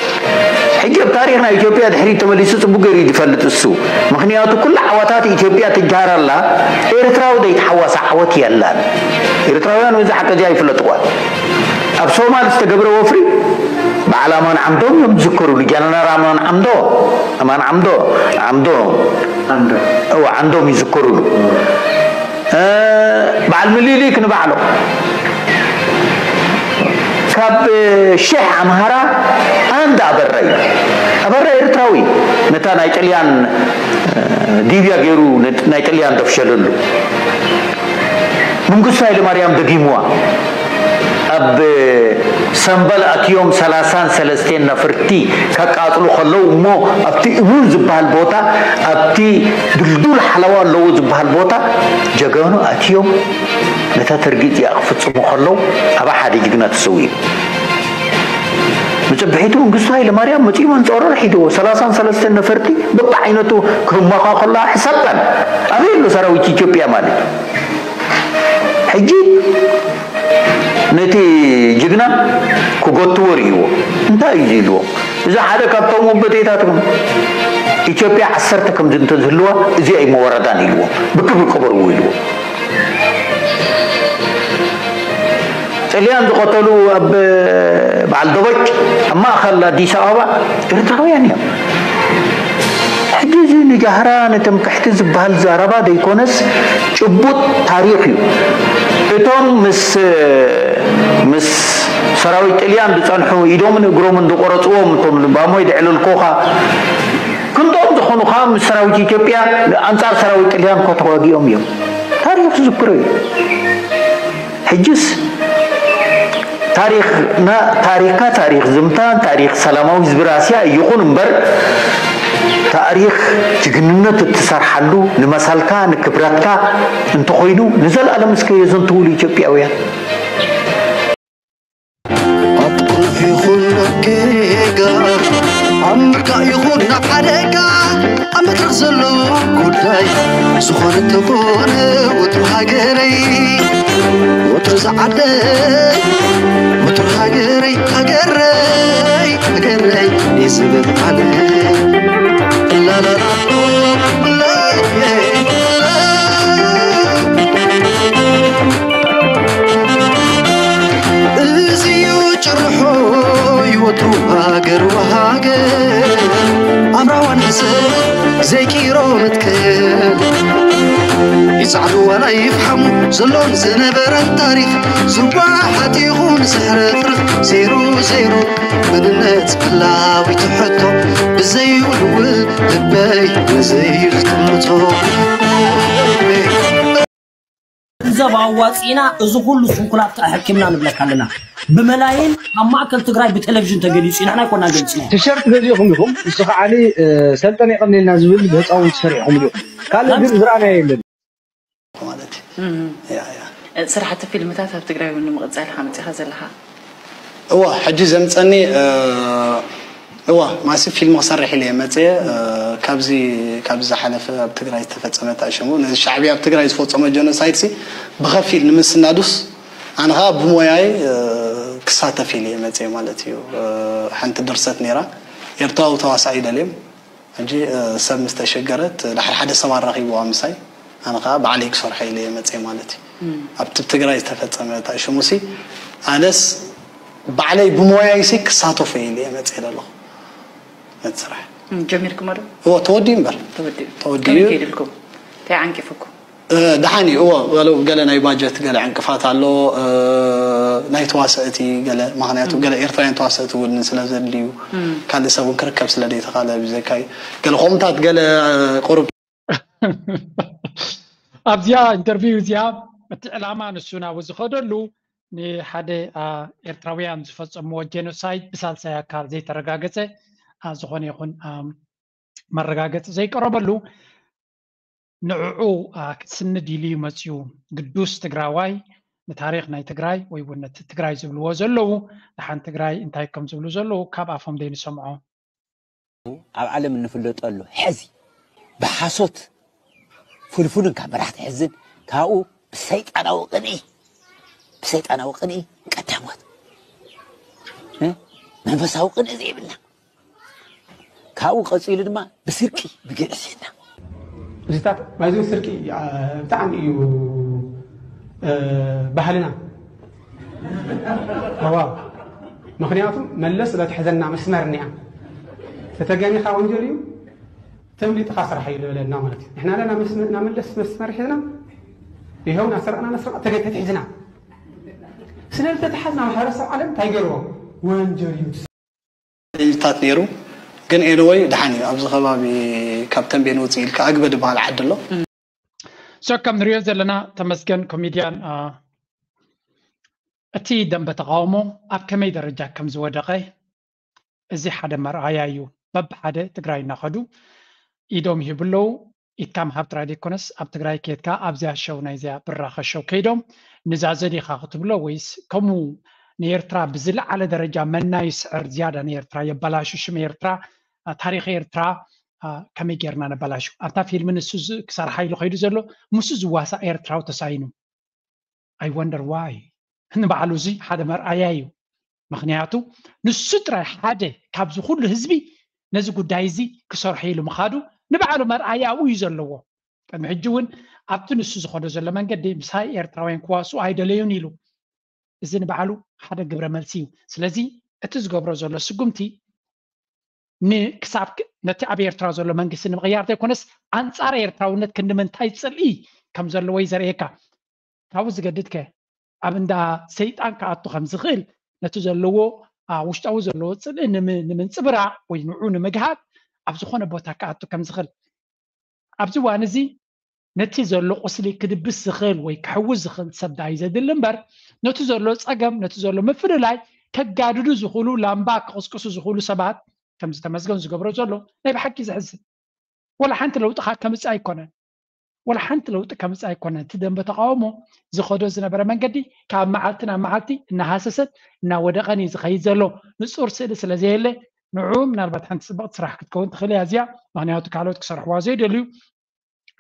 ሕጂ ኣብ ታሪኽ ናይ ኢትዮጵያ ድሕሪት ተመሊሱ ጽቡቅ ገይሩ እዩ ዝፈልጥ እሱ። ምኽንያቱ ኩሉ ዓወታት ኢትዮጵያ ትጀሃር ኣላ፣ ኤርትራዊ ዘይተሓወሰ ዓወት የላን። ኤርትራውያን በዚ ሓቂ እዚ ኣይፍለጥዋን። ኣብ ሶማል ዝተገብረ ወፍሪ በዓል ኣማን ዓምዶም እዮም ዝዝከሩሉ። ጀነራል ኣማን ዓምዶ፣ ኣማን ዓምዶ፣ ዓምዶ፣ ዓምዶ። እወ፣ ዓምዶም ይዝከሩሉ። በዓል ምኒልክ ንባዕሎም ካብ ሽሕ ኣምሃራ ኣንድ ኣበራ እዩ። ኣበራ ኤርትራዊ ነታ ናይ ጥልያን ዲብያ ገይሩ ናይ ጥልያን ደፍሸለሉ። መንግስቱ ኃይለማርያም ደጊምዋ። ኣብ ሰምበል ኣትዮም ሰላሳን ሰለስቴን ነፍርቲ ከቃጽሉ ከለዉ እሞ ኣብቲ እሙን ዝበሃል ቦታ ኣብቲ ድልዱል ሓለዋ ኣለዎ ዝበሃል ቦታ ጀጋኑ ኣትዮም ነታ ተርጊጥ እዚኣ ክፍጽሙ ከለዉ ኣብኣ ሓደ ጅግና ተሰዊኡ። ብጽብሒቱ መንግስቱ ኃይለማርያም መጺኡ መንጸሮር ሒድዎ ሰላሳን ሰለስቴን ነፈርቲ በብዓይነቱ ክህመኻ ከሎ ሕሰበን ኣበይ ኣሎ ሰራዊት ኢትዮጵያ ማለት ሕጂ ነቲ ጅግና ክጎትዎ ርእይዎ እንታይ እዩ ኢልዎም? እዚ ሓደ ካብቶም ወበቴታትኩም ኢትዮጵያ ዓሰርተ ከምዚ እንተዝህልዋ እዚኣ እዩ መወረዳን ኢልዎም። ብክብሪ ቅበርዎ ኢልዎም። ጥልያን ዝቐተሉ ኣብ በዓል ደቦጭ ኣብ ማእኸል ኣዲስ ኣበባ ኤርትራውያን እዮም። ሕጂ እዚ ንጃህራ ንትምክሕቲ ዝበሃል ዘረባ ዘይኮነስ ጭቡጥ ታሪኽ እዩ። እቶም ምስ ምስ ሰራዊት ጥልያን ዝጸንሑ ኢዶምን እግሮምን ዝቆረጽዎም እቶም ልባሞይ ድዕልልኮኻ ክንድኦም ዝኾኑ ከዓ ምስ ሰራዊት ኢትዮጵያ ኣንጻር ሰራዊት ጥልያን እኮ ተዋጊኦም እዮም። ታሪኽ ዝዝክሮ እዩ። ሕጅስ ታሪኽና ታሪኽካ ታሪኽ ዝምታ ታሪኽ ሰላማዊ ህዝቢ ራስያ ይኹን እምበር ታሪኽ ጅግንነት እትሰርሓሉ ንመሰልካ ንክብረትካ እንተኾይኑ ንዘለኣለም እስከ የዘንትውሉ ኢትዮጵያውያን። ኣብ ቁኑዕ ይኹን ኣብ ጌጋ ኣብ ምርጋእ ይኹን ኣብ ሓደጋ ኣብ መድረኽ ዘሎ ጉዳይ ዝኾነ እንተኾነ ወትሩ ሃገረይ ወትሩ ዝዓደይ ወትሩ ሃገረይ ሃገረይ ሃገረይ ይዝብል ዓለ ላላላ እዚዩ ጭርሖ ይወትሩ ሃገር ወሃገር ኣብ ራዋን ሕሰብ ዘይቂሮ መትከል ይጻዕዱ ዋላ ይፍሓሙ ዘሎን ዝነበረን ታሪኽ ዝወሓጥ ይኹን ዝሕረፍርፍ ዜሮ ዜሮ መንነት መላዊት ሕቶ ብዘይውልውል ልበይ ነዘይ ዝጥምቶ ገንዘብ ኣዋፂእና እዚ ኩሉ ስንኩላት ተኣሐኪምና ንብለካ ኣለና። ብመላይን ኣብ ማእከል ትግራይ ብቴሌቪዥን ተገሊፁ እዩ። ንሕና ኣይኮናን ገሊፅና። ቲሸርት ገዚእኹም ኢኹም፣ ንሱ ከዓ ሰልጠን የቐንየልና ዝብል ብህፃውንቲ ሰሪሕኹምሉ ኢኹም። ካልእ ግን ዝረኣናዮ የለን። ማለት እዩ። ስራሕቲ ፊልምታት ኣብ ትግራይ እውን ንምቕፃል ኢኻ መፂኻ ዘለኻ። እዋ ሕጂ ዘምፀኒ እዋ ማሲ ፊልም ክሰርሕ ኢለ መፅየ። ካብዚ ካብዚ ዝሓለፈ ኣብ ትግራይ ዝተፈፀመ ተኣሸሙ ነዚ ሻዕብያ ኣብ ትግራይ ዝፈፀሞ ጀኖሳይድ ሲ ብኸፊል ንምስናዱስ ኣነ ከዓ ብሞያይ ክሳተፍ ኢለ መፅየ ማለት እዩ። ሓንቲ ድርሰት ነይራ ኤርትራዊ ተዋሳኢ ደልዮም ሕጂ ሰብ ምስ ተሸገረት ድሕሪ ሓደ ሰብ ኣራኺብዋ ምሳይ ኣነ ከዓ ባዕለይ ክሰርሖ ኢለ እየ መፅየ ማለት እዩ። ኣብቲ ትግራይ ዝተፈፀመ ተኣሽሙሲ ኣነስ ባዕለይ ብሞያይሲ ክሳተፎ ኢለ እየ መፅየ ዘለኹ ነቲ ስራሕ። ጀሚርኩሞ ዶ? እዎ ተወዲኡ እምበር ተወዲኡ። ከመይ ከይድልኩም? እንታይ ዓንቂፉኩም? ደሓን እዩ እዎ በሉ ገለ ናይ ባጀት ገለ ዕንቅፋት ኣሎ ናይ ተዋሰእቲ ገለ ምክንያቱ ገለ ኤርትራውያን ተዋሰእቲ እውን ስለ ዘድልዩ ካልእ ሰብ እውን ክርከብ ስለ ዘይተኻለ ብዘካይ ገለ ከምኡታት ገለ ቁሩብ ኣብዚኣ ኢንተርቪው እዚኣ እቲ ዕላማ ንሱ ናብ ዝኸደሉ ንሓደ ኤርትራውያን ዝፈጸምዎ ጀኖሳይድ ብሳልሳይ ኣካል ዘይተረጋገጸ ዝኾነ ይኹን መረጋገጺ ዘይቀረበሉ ንዕዑ ክስንድ ኢሉ እዩ መፅዩ። ግዱስ ትግራዋይ ንታሪኽ ናይ ትግራይ ወይ እውን ነቲ ትግራይ ዝብልዎ ዘለዉ ደሓን ትግራይ እንታይ ከም ዝብሉ ዘለዉ ካብ ኣፎም ደይንሰምዖ። ኣብ ዓለም እንፍለጠሉ ሕዚ ብሓሶት ፍልፍልን ካብ መራሕቲ ሕዝን ካብኡ ብሰይጣናዊ ቅንኢ ብሰይጣናዊ ቅንኢ ቀዳሞት መንፈሳዊ ቅንኢ ዘይብልና ካብኡ ቀፂሉ ድማ ብስርቂ ብግዕዝይና እዚታት ባይዞ ስርቂ ብጣዕሚ እዩ ባህልና ዋ ምክንያቱ መለስ ለትሕዘና መስመር እኒኣ ተተገኒኻ ወንጀል እዩ ተምሊጥኻ ስራሕ እዩ ዝበለና ማለት እዩ ንሕና ለና መለስ መስመር ሒዝና ይኸው እናሰረቕና እናሰረቕና ተገ- ተታሒዝና። ስለዚ ተታሓዝና ማሕበረሰብ ዓለም እንታይ ገይርዎ? ወንጀል እዩ። ታት ነይሩ። ግን anyway ደሓን እዩ። ኣብዚ ከባቢ ካብ ተንቤን ውፅእ ኢልካ ኣግበ ዝበሃል ዓዲ ኣሎ። So ከም ንሪኦ ዘለና ተመስገን ኮሜድያን እቲ ደንበ ተቃውሞ ኣብ ከመይ ደረጃ ከም ዝወደቐ እዚ ሓደ መርኣያ እዩ። በብሓደ ትግራይ እናኸዱ ኢዶም ይህቡ ኣለዉ። ኢድካ ምሃብ ጥራይ ዘይኮነስ ኣብ ትግራይ ከድካ ኣብዚኣ ሸው ናይዚኣ ብራኸ ሸው ከይዶም ንዛዘ ዲኻ ክትብሎ ወይስ ከምኡ ንኤርትራ ብዝለዓለ ደረጃ መና ይስዕር ዝያዳ ንኤርትራ የበላሹ ሽም ኤርትራ ታሪኽ ኤርትራ ከመይ ጌርና ነበላሹ ኣብታ ፊልም ንሱ ክሰርሓ ኢሉ ከይዱ ዘሎ ምስ ዝዋሳእ ኤርትራዊ ተሳኢኑ I wonder why ንባዕሉ እዚ ሓደ መርኣያ እዩ። ምክንያቱ ንሱ ጥራይ ሓደ ካብዚ ኩሉ ህዝቢ ነዚ ጉዳይ እዚ ክሰርሖ ኢሉ ምኻዱ ንባዕሉ መርኣያኡ እዩ ዘለዎ። ቅድሚ ሕጂ እውን ኣብቲ ንሱ ዝኸዶ ዘሎ መንገዲ ምሳይ ኤርትራውያን ክዋስኡ ኣይደለዩን ኢሉ። እዚ ንባዕሉ ሓደ ግብረ መልሲ እዩ። ስለዚ እቲ ዝገብሮ ዘሎ ስጉምቲ ንክሳብ ነቲ ኣብ ኤርትራ ዘሎ መንግስቲ ንምቕያር ዘይኮነስ ኣንጻር ኤርትራውነት ክንዲ ምንታይ ጽልኢ ከም ዘለዎ እዩ ዘርእየካ። ካብኡ ዝገድድ ከ ኣብ እንዳ ሰይጣን ክኣቱ ከም ዝኽእል ነቲ ዘለዎ ውሽጣዊ ዘለዎ ጽልኢ ንምንጽብራቕ ወይ ንዑ ንምግሃድ ኣብ ዝኾነ ቦታ ክኣቱ ከም ዝኽእል ኣብዚ እዋን እዚ ነቲ ዘሎ ቁስሊ ክድብስ ዝኽእል ወይ ክሕውስ ዝኽእል ሰብ ደኣ እዩ ዘድሊ እምበር ነቲ ዘሎ ጸገም ነቲ ዘሎ ምፍልላይ ከጋድዱ ዝኽእሉ ላምባ ክቕስቅሱ ዝኽእሉ ሰባት ከምዚ ተመስገን ዝገብሮ ዘሎ ናይ ብሓቂ ዘሕዝን ወላ ሓንቲ ለውጢ ከምጽእ ኣይኮነን ወላ ሓንቲ ለውጢ ከምጽእ ኣይኮነን እቲ ደንበ ተቃውሞ ዝኸዶ ዝነበረ መንገዲ ካብ መዓልቲ ናብ መዓልቲ እናሃሰሰን እናወደቐን እዩ ዝኸይድ ዘሎ ንጹር ስእሊ ስለ ዘየለ ንዑ ምናልባት ሓንቲ ጽብቕቲ ስራሕ ክትከውን ትኽእል እያ እዚኣ ምክንያቱ ካልኦት ክሰርሕዋ ዘይደልዩ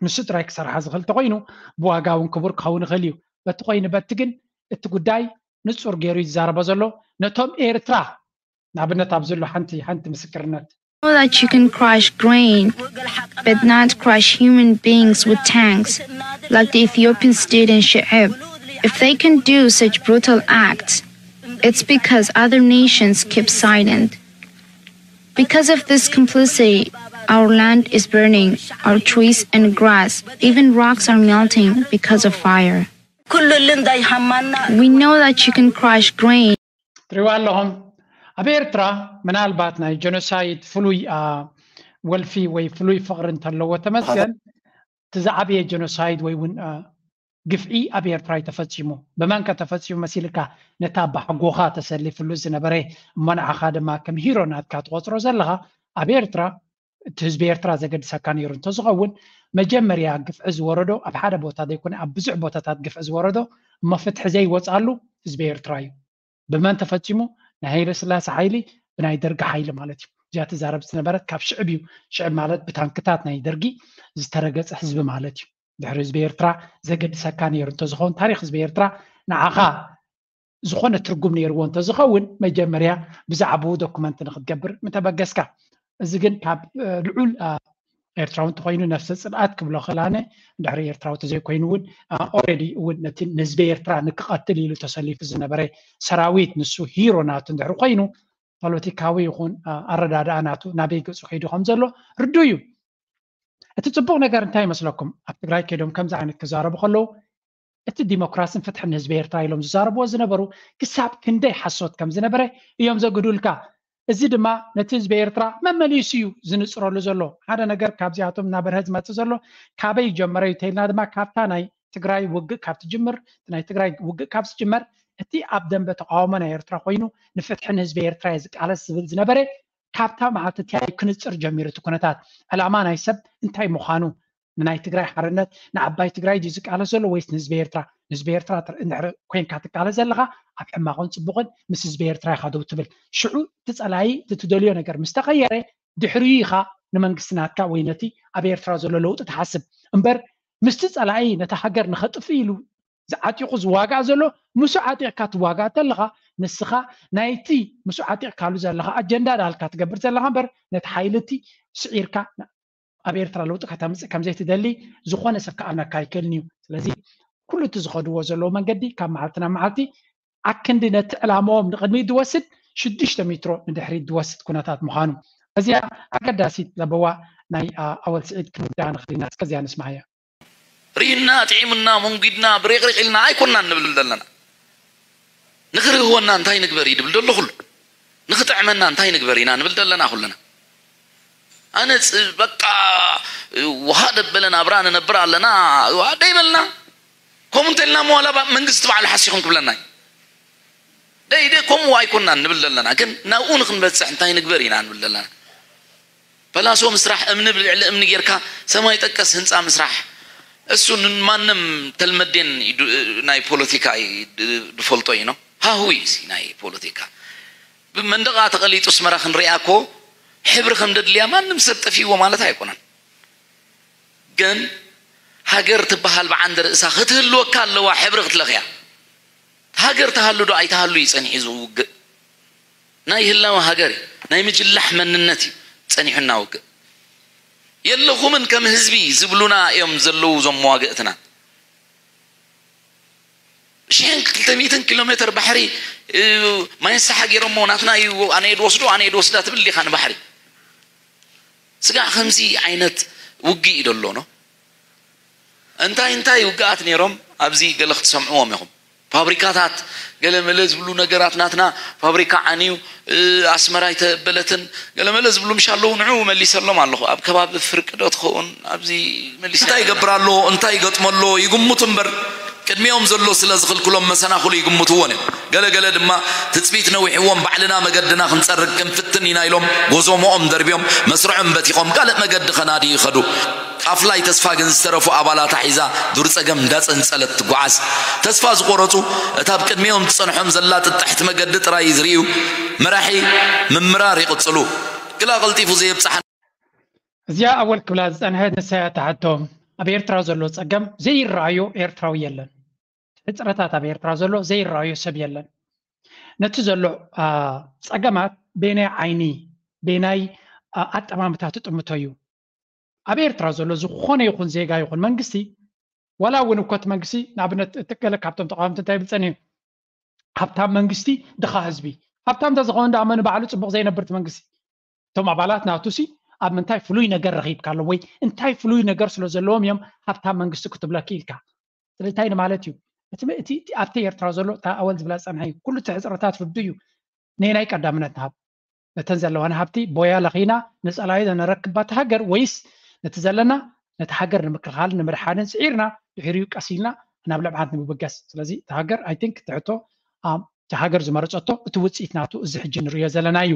ንሱ ጥራይ ክሰርሓ ዝኽእል ተኮይኑ ብዋጋ እውን ክቡር ክኸውን ይኽእል እዩ በቲ ኮይኑ በቲ ግን እቲ ጉዳይ ንጹር ገይሩ ይዛረቦ ዘሎ ነቶም ኤርትራ ንኣብነት ኣብ ዘሎ ሓንቲ ሓንቲ ምስክርነት Know that you can crush grain, but not crush human beings with tanks, like the Ethiopians did in She'eb. If they can do such brutal acts, it's because other nations keep silent. Because of this complicity, our land is burning, our trees and grass, even rocks are melting because of fire. We know that you can crush grain. ትሪዋ ኣለኹም ኣብ ኤርትራ ምናልባት ናይ ጀኖሳይድ ፍሉይ ወልፊ ወይ ፍሉይ ፍቕሪ እንተለዎ ተመስገን እቲ ዝዓበየ ጀኖሳይድ ወይ እውን ግፍዒ ኣብ ኤርትራ እዩ ተፈፂሙ ብመን ከ ተፈፂሙ መሲልካ ነታ ባሕጎኻ ተሰሊፍሉ ዝነበረ እሞ ንዓኻ ድማ ከም ሂሮ ናትካ ትቆፅሮ ዘለኻ ኣብ ኤርትራ እቲ ህዝቢ ኤርትራ ዘገድሰካ ነይሩ እንተዝኸውን መጀመርያ ግፍዒ ዝወረዶ ኣብ ሓደ ቦታ ዘይኮነ ኣብ ብዙሕ ቦታታት ግፍዒ ዝወረዶ እሞ ፍትሒ ዘይወፅኣሉ ህዝቢ ኤርትራ እዩ ብመን ተፈፂሙ ናይ ሃይለ ስላሴ ሓይሊ ብናይ ደርጊ ሓይሊ ማለት እዩ እዚኣ ትዛረብ ዝነበረት ካብ ሽዕብ እዩ ሽዕብ ማለት ብታንክታት ናይ ደርጊ ዝተረገፀ ህዝቢ ማለት እዩ ድሕሪ ህዝቢ ኤርትራ ዘገድሰካ ነይሩ እንተዝኸውን ታሪክ ህዝቢ ኤርትራ ንዓኻ ዝኾነ ትርጉም ነይርዎ እንተዝኸውን መጀመርያ ብዛዕባኡ ዶኩመንት ንክትገብር ምተበገስካ እዚ ግን ካብ ልዑል ኤርትራዊ እንተኮይኑ ነፍሰ ፅልኣት ክብሎ ክላነ ድሕሪ ኤርትራዊ ተዘይኮይኑ እውን already እውን ነቲ ንህዝቢ ኤርትራ ንክቐትል ኢሉ ተሰሊፉ ዝነበረ ሰራዊት ንሱ ሂሮ ናቱ እንድሕሪ ኮይኑ ፖለቲካዊ ይኹን ኣረዳድኣ ናቱ ናበይ ገፁ ከይዱ ከም ዘሎ ርዱ እዩ እቲ ፅቡቅ ነገር እንታይ ይመስለኩም ኣብ ትግራይ ከይዶም ከምዚ ዓይነት ክዛረቡ ከለዉ እቲ ዲሞክራስን ፍትሕን ንህዝቢ ኤርትራ ኢሎም ዝዛረብዎ ዝነበሩ ክሳብ ክንደይ ሓሶት ከም ዝነበረ እዮም ዘግዱልካ እዚ ድማ ነቲ ህዝቢ ኤርትራ መመሊሱ እዩ ዝንፅረሉ ዘሎ ሓደ ነገር ካብዚኣቶም እናበርሀ ዝመፅእ ዘሎ ካበይ ጀመረ እዩ ተይልና ድማ ካብታ ናይ ትግራይ ውግእ ካብ ትጅምር ናይ ትግራይ ውግእ ካብ ዝጅመር እቲ ኣብ ደንበ ተቃውሞ ናይ ኤርትራ ኮይኑ ንፍትሒ ንህዝቢ ኤርትራ እየ ዝቃለስ ዝብል ዝነበረ ካብታ መዓልቲ እቲኣ እዩ ክንፅር ጀሚሩ እቲ ኩነታት ዕላማ ናይ ሰብ እንታይ ምዃኑ ንናይ ትግራይ ሓርነት ንዓባይ ትግራይ ድዩ ዝቃለስ ዘሎ ወይስ ንህዝቢ ኤርትራ ንህዝቢ ኤርትራ እንድሕር ኮይንካ ትቃለስ ዘለኻ ኣብ ሕማቕን ፅቡቕን ምስ ህዝቢ ኤርትራ ኢኻ ደው ትብል ሽዑ እቲ ፀላኢ እቲ ትደልዮ ነገር ምስ ተቐየረ ድሕሪኡ ኢኻ ንመንግስቲ ናትካ ወይ ነቲ ኣብ ኤርትራ ዘሎ ለውጢ ትሓስብ እምበር ምስቲ ፀላኢ ነታ ሃገር ንኸጥፍ ኢሉ ዝዓጢቑ ዝዋጋእ ዘሎ ምስኡ ዓጢቕካ ትዋጋእ ተለኻ ንስኻ ናይቲ ምስኡ ዓጢቕካሉ ዘለኻ ኣጀንዳ ዳልካ ትገብር ዘለኻ እምበር ነቲ ሓይሊ እቲ ስዒርካ ኣብ ኤርትራ ለውጢ ከተምፅእ ከምዘይትደሊ ዝኾነ ሰብ ክኣምነካ ኣይክእልን እዩ ስለዚ ኩሉ እቲ ዝኸድዎ ዘለዉ መንገዲ ካብ መዓልቲ ናብ መዓልቲ ኣክንዲ ነቲ ዕላማኦም ንቕድሚት ዝወስድ ሽዱሽተ ሜትሮ ንድሕሪት ዝወስድ ኩነታት ምዃኑ እዚኣ ኣገዳሲት ለበዋ ናይ ኣወል ስዒድ ክንውዳ ንኽእል ኢና እስከዚኣ ንስማዓያ ርሂና፣ ጥዒሙና፣ መንጒድና፣ ብሬቕሪቕ ኢልና ኣይኮናን ንብል ዘለና። ንኽርህወና እንታይ ንግበር እዩ ድብል ደሎ ኩሉ። ንኽጥዕመና እንታይ ንግበር ኢና ንብል ዘለና ኩልና። ኣነ ጽ-፣ በቃ፣ ውሃ ደበለ ናብራ ንነብር ኣለና፣ ደይበልና። ከምኡ እንተልና መዋላ ባ-፣ መንግስቲ ባዕሉ ሓሲኹም ክብለና እዩ። ደይ፣ ደይ፣ ከምኡ ኣይኮናን ንብል ዘለና። ግን ናብኡ ንኽንበጽሕ እንታይ ንግበር ኢና ንብል ዘለና። ፈላሶ ምስራሕ፣ እምኒ ብልዕሊ እምኒ ጌርካ ሰማይ ጠቀስ ህንጻ ምስራሕ፣ እሱ ንማንም ተልመዴን ይዱ-፣ ናይ ፖለቲካ እዩ፣ ድ-፣ ድፈልጦ እዩ ነው። ሃሁ እዩ እዚ ናይ ፖለቲካ። ብመንደቓ ተቐሊጡ ኣስመራ ክንሪኣ እኮ ሕብሪ ከም ደድልያ ማንም ሰብ ጠፊእዎ ማለት ኣይኮነን። ግን ሃገር ትበሃል ብዓንዲ ርእሳ ክትህልወካ ኣለዋ፣ ሕብሪ ክትለኽያ። ሃገር ትሃሉ ዶ ኣይትሃሉ እዩ ጸኒሑ እዚ ውግእ። ናይ ህላወ ሃገር እዩ፣ ናይ ምጅላሕ መንነት እዩ ጸኒሑና ውግእ። የለኹምን ከም ህዝቢ ዝብሉና እዮም ዘለዉ እዞም መዋግእትና። ሽሕን ክልተ ሚእትን ኪሎ ሜትር ባሕሪ፣ እ፣ ማይ ንስሓ ገይሮሞ ናትና እዩ፣ ኣነ እየ ድወስዶ፣ ኣነ እየ ድወስዳ ትብል ዲኻ ንባሕሪ? ስጋዕ ከምዚ ዓይነት ውግእ እዩ ደሎ ነው። እንታይ እንታይ ውግኣት ነይሮም ኣብዚ ገለ ክትሰምዕዎም ኢኹም። ፋብሪካታት ገለ መለ ዝብሉ ነገራት ናትና ፋብሪካ ዓንዩ፣ እ፣ ኣስመራ ኣይተበለትን ገለ መለ ዝብሉ ምሽ ኣለዉ። ንዑ መሊሰሎም ኣለኹ። ኣብ ከባቢ ፍርቂ ዶ ትኸውን ኣብዚ መሊሰ እንታይ ይገብር ኣሎ፣ እንታይ ይገጥሞ ኣሎ ይግምቱ እምበር ቅድሚኦም ዘሎ ስለ ዝኽልክሎም መሰናኽሉ ይግምትዎን እዮም። ገለ ገለ ድማ ትጽቢት ነዊሕዎም ባዕልና መገድና ክንጸርግ ክንፍትን ኢና ኢሎም ጎዞሞኦም ደርብዮም መስርዖም በቲኾም ካልእ መገዲ ከናድዩ ይኸዱ። ኣፍላይ ተስፋ ግን ዝተረፉ ኣባላታ ሒዛ ዱር ጸገም እንዳጸንጸለት ትጓዓዝ። ተስፋ ዝቆረጹ እታ ኣብ ቅድሚኦም ትጸንሖም ዘላ ጥጥሕቲ መገዲ ጥራይ ዝርእዩ መራሒ ምምራር ይቕጽሉ። ግላ ቀልጢፉ ዘየብጽሓ እዚኣ ኣወል ክብላ ዝጸንሐት ንሳያ ትሓቶም። ኣብ ኤርትራ ዘሎ ጸገም ዘይረኣዮ ኤርትራዊ የለን። ሕጽረታት ኣብ ኤርትራ ዘሎ ዘይረኣዮ ሰብ የለን። ነቲ ዘሎ፣ አ፣ ጸገማት በየናይ ዓይኒ፣ በየናይ፣ አ፣ ኣጠማምታ ትጥምቶ እዩ? ኣብ ኤርትራ ዘሎ ዝኾነ ይኹን ዜጋ ይኹን መንግስቲ፣ ዋላ እውን እኮ እቲ መንግስቲ፣ ንኣብነት፣ እቲ ገለ ካብቶም ተቃወምቲ እንታይ ይብል ጸኒሑ? ሃብታም መንግስቲ፣ ድኻ ህዝቢ። ሃብታም እንተዝኸውን ደኣ መን ባዕሉ ጽቡቕ ዘይነብር እቲ መንግስቲ? እቶም ኣባላት ናቱሲ ኣብ ምንታይ ፍሉይ ነገር ረኺብካ ኣሎ ወይ እንታይ ፍሉይ ነገር ስለ ዘለዎም እዮም ሃብታም መንግስቲ ክትብለኪ ኢልካ? ስለዚ እንታይ ንማለት እዩ? እቲ፣ እቲ፣ እቲ ኣብቲ ኤርትራ ዘሎ እታ ኣወል ዝብላ ዝጸንሐ እዩ። ኩሉ እቲ ሕጽረታት ርዱ እዩ። ነየናይ ቀዳምነት ንሃብ? ነተን ዘለዋና ሃብቲ ቦያ ለኺና ንጸላኢ ነረክብ ባታ ሃገር ወይስ ነቲ ዘለና ነቲ ሃገር ንምክልኻልን ንምድሓንን ስዒርና ድሕሪኡ ቀስ ኢልና ናብ ልምዓት ንምብገስ? ስለዚ እቲ ሃገር፣ I think፣ እቲ ሕቶ፣ ኣም፣ እቲ ሃገር ዝመረጸቶ እቲ ውጽኢት ናቱ እዚ ሕጂ ንርእዮ ዘለና እዩ።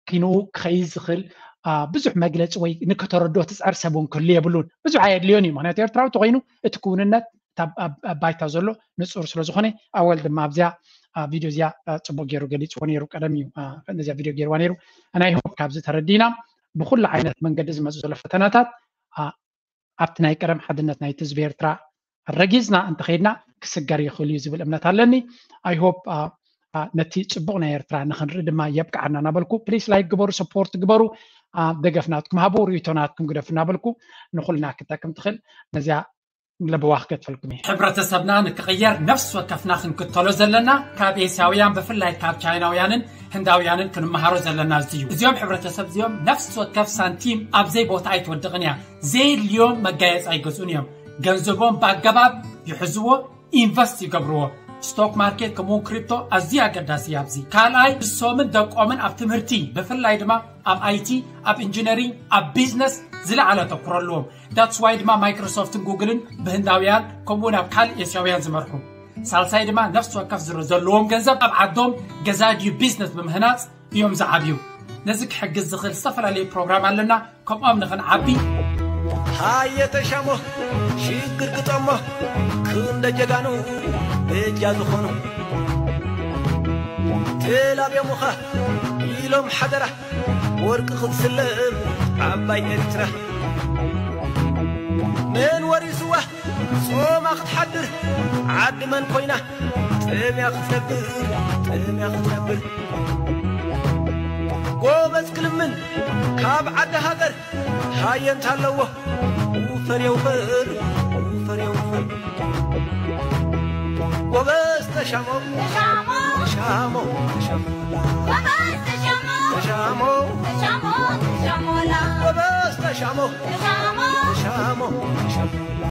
ኪንኡ ክኸይድ ዝኽእል፣ አ፣ ብዙሕ መግለጺ ወይ ንክተረድኦ ትጸር ሰብ እውን ክህሉ የብሉን። ብዙሕ ኣየድልዮን እዩ። ምኽንያቱ ኤርትራዊ ተኾይኑ እቲ ክውንነት እታ ኣብ፣ ኣብ ባይታ ዘሎ ንጹር ስለ ዝኾነ ኣወል ድማ ኣብዚኣ፣ አ፣ ቪድዮ እዚኣ፣ አ፣ ጽቡቕ ገይሩ ገሊጽዎ ነይሩ። ቀደም እዩ፣ አ፣ ነዚኣ ቪድዮ ገይርዋ ነይሩ። And I hope ካብዚ ተረዲና ብኹሉ ዓይነት መንገዲ ዝመጹ ዘሎ ፈተናታት፣ አ፣ ኣብቲ ናይ ቀደም ሓድነት ናይቲ ህዝቢ ኤርትራ ረጊጽና እንተኸይድና ክስገር ይኽእል እዩ ዝብል እምነት ኣለኒ። I hope፣ አ፣ አ፣ ነቲ ጽቡቕ ናይ ኤርትራ ንኽንርኢ ድማ የብቅዓና እናበልኩ፣ ፕሊስ ላይክ ግበሩ፣ ሰፖርት ግበሩ፣ አ፣ ደገፍ ናትኩም ሃቡ፣ ርእይቶ ናትኩም ግደፉ እናበልኩ ንኹልና ክጠቅም ትኽእል ነዚኣ ለበዋ ክገድፈልኩም እየ። ሕብረተሰብና ንክቕየር ነፍሲ ወከፍና ክንክተሎ ዘለና ካብ ኤስያውያን ብፍላይ ካብ ቻይናውያንን ህንዳውያንን ክንመሃሮ ዘለና እዚ እዩ። እዚኦም ሕብረተሰብ እዚኦም ነፍሲ ወከፍ ሳንቲም ኣብ ዘይ ቦታ ኣይትወድቕን እያ። ዘየድልዮም መጋየፂ ኣይገዝኡን እዮም። ገንዘቦም ብኣገባብ ይሕዝዎ፣ ኢንቨስት ይገብርዎ። ስቶክ ማርኬት ከምኡውን ክሪፕቶ ኣዝዩ ኣገዳሲ እዩ ኣብዚ። ካልኣይ ንሶምን ደቆምን ኣብ ትምህርቲ ብፍላይ ድማ ኣብ ኣይቲ፣ ኣብ ኢንጂነሪንግ፣ ኣብ ቢዝነስ ዝለዓለ ኣተኩሮ ኣለዎም። That's why ድማ ማይክሮሶፍትን ጉግልን ብህንዳውያን ከምኡውን ኣብ ካልእ ኤስያውያን ዝመርሑ። ሳልሳይ ድማ ነፍሲ ወከፍ ዝረ-፣ ዘለዎም ገንዘብ ኣብ ዓዶም ገዛ ድዩ ቢዝነስ ብምህናጽ እዮም ዝዓብዩ። ነዚ ክሕግዝ ዝኽእል ዝተፈላለዩ ፕሮግራም ኣለና። ከምኦም ንኽንዓቢ ሃየ ተሻሞ ሽግር ግጠሞ ክንደ ጀጋኑ በጃ ዝኾኑ ተላብዮምኻ ኢሎም ሓደራ ወርቂ ክትስለም ዓባይ ኤርትራ መን ወሪስዋ ጾማ ክትሓድር ዓዲ መን ኮይና ጥምያ ክትነብር ጥምያ ክትነብር ጎበዝ ክልምን ካብ ዓዲ ሃገር ሃየ እንታለዎ ውፈር የውፈር ውፈር የውፈር ጎበዝ ተሻሞ ተሻሞ ተሻሞ ተሻሞ ጎበዝ ተሻሞ ተሻሞ ተሻሞ ተሻሞላ ጎበዝ ተሻሞ ተሻሞ ተሻሞ ተሻሞ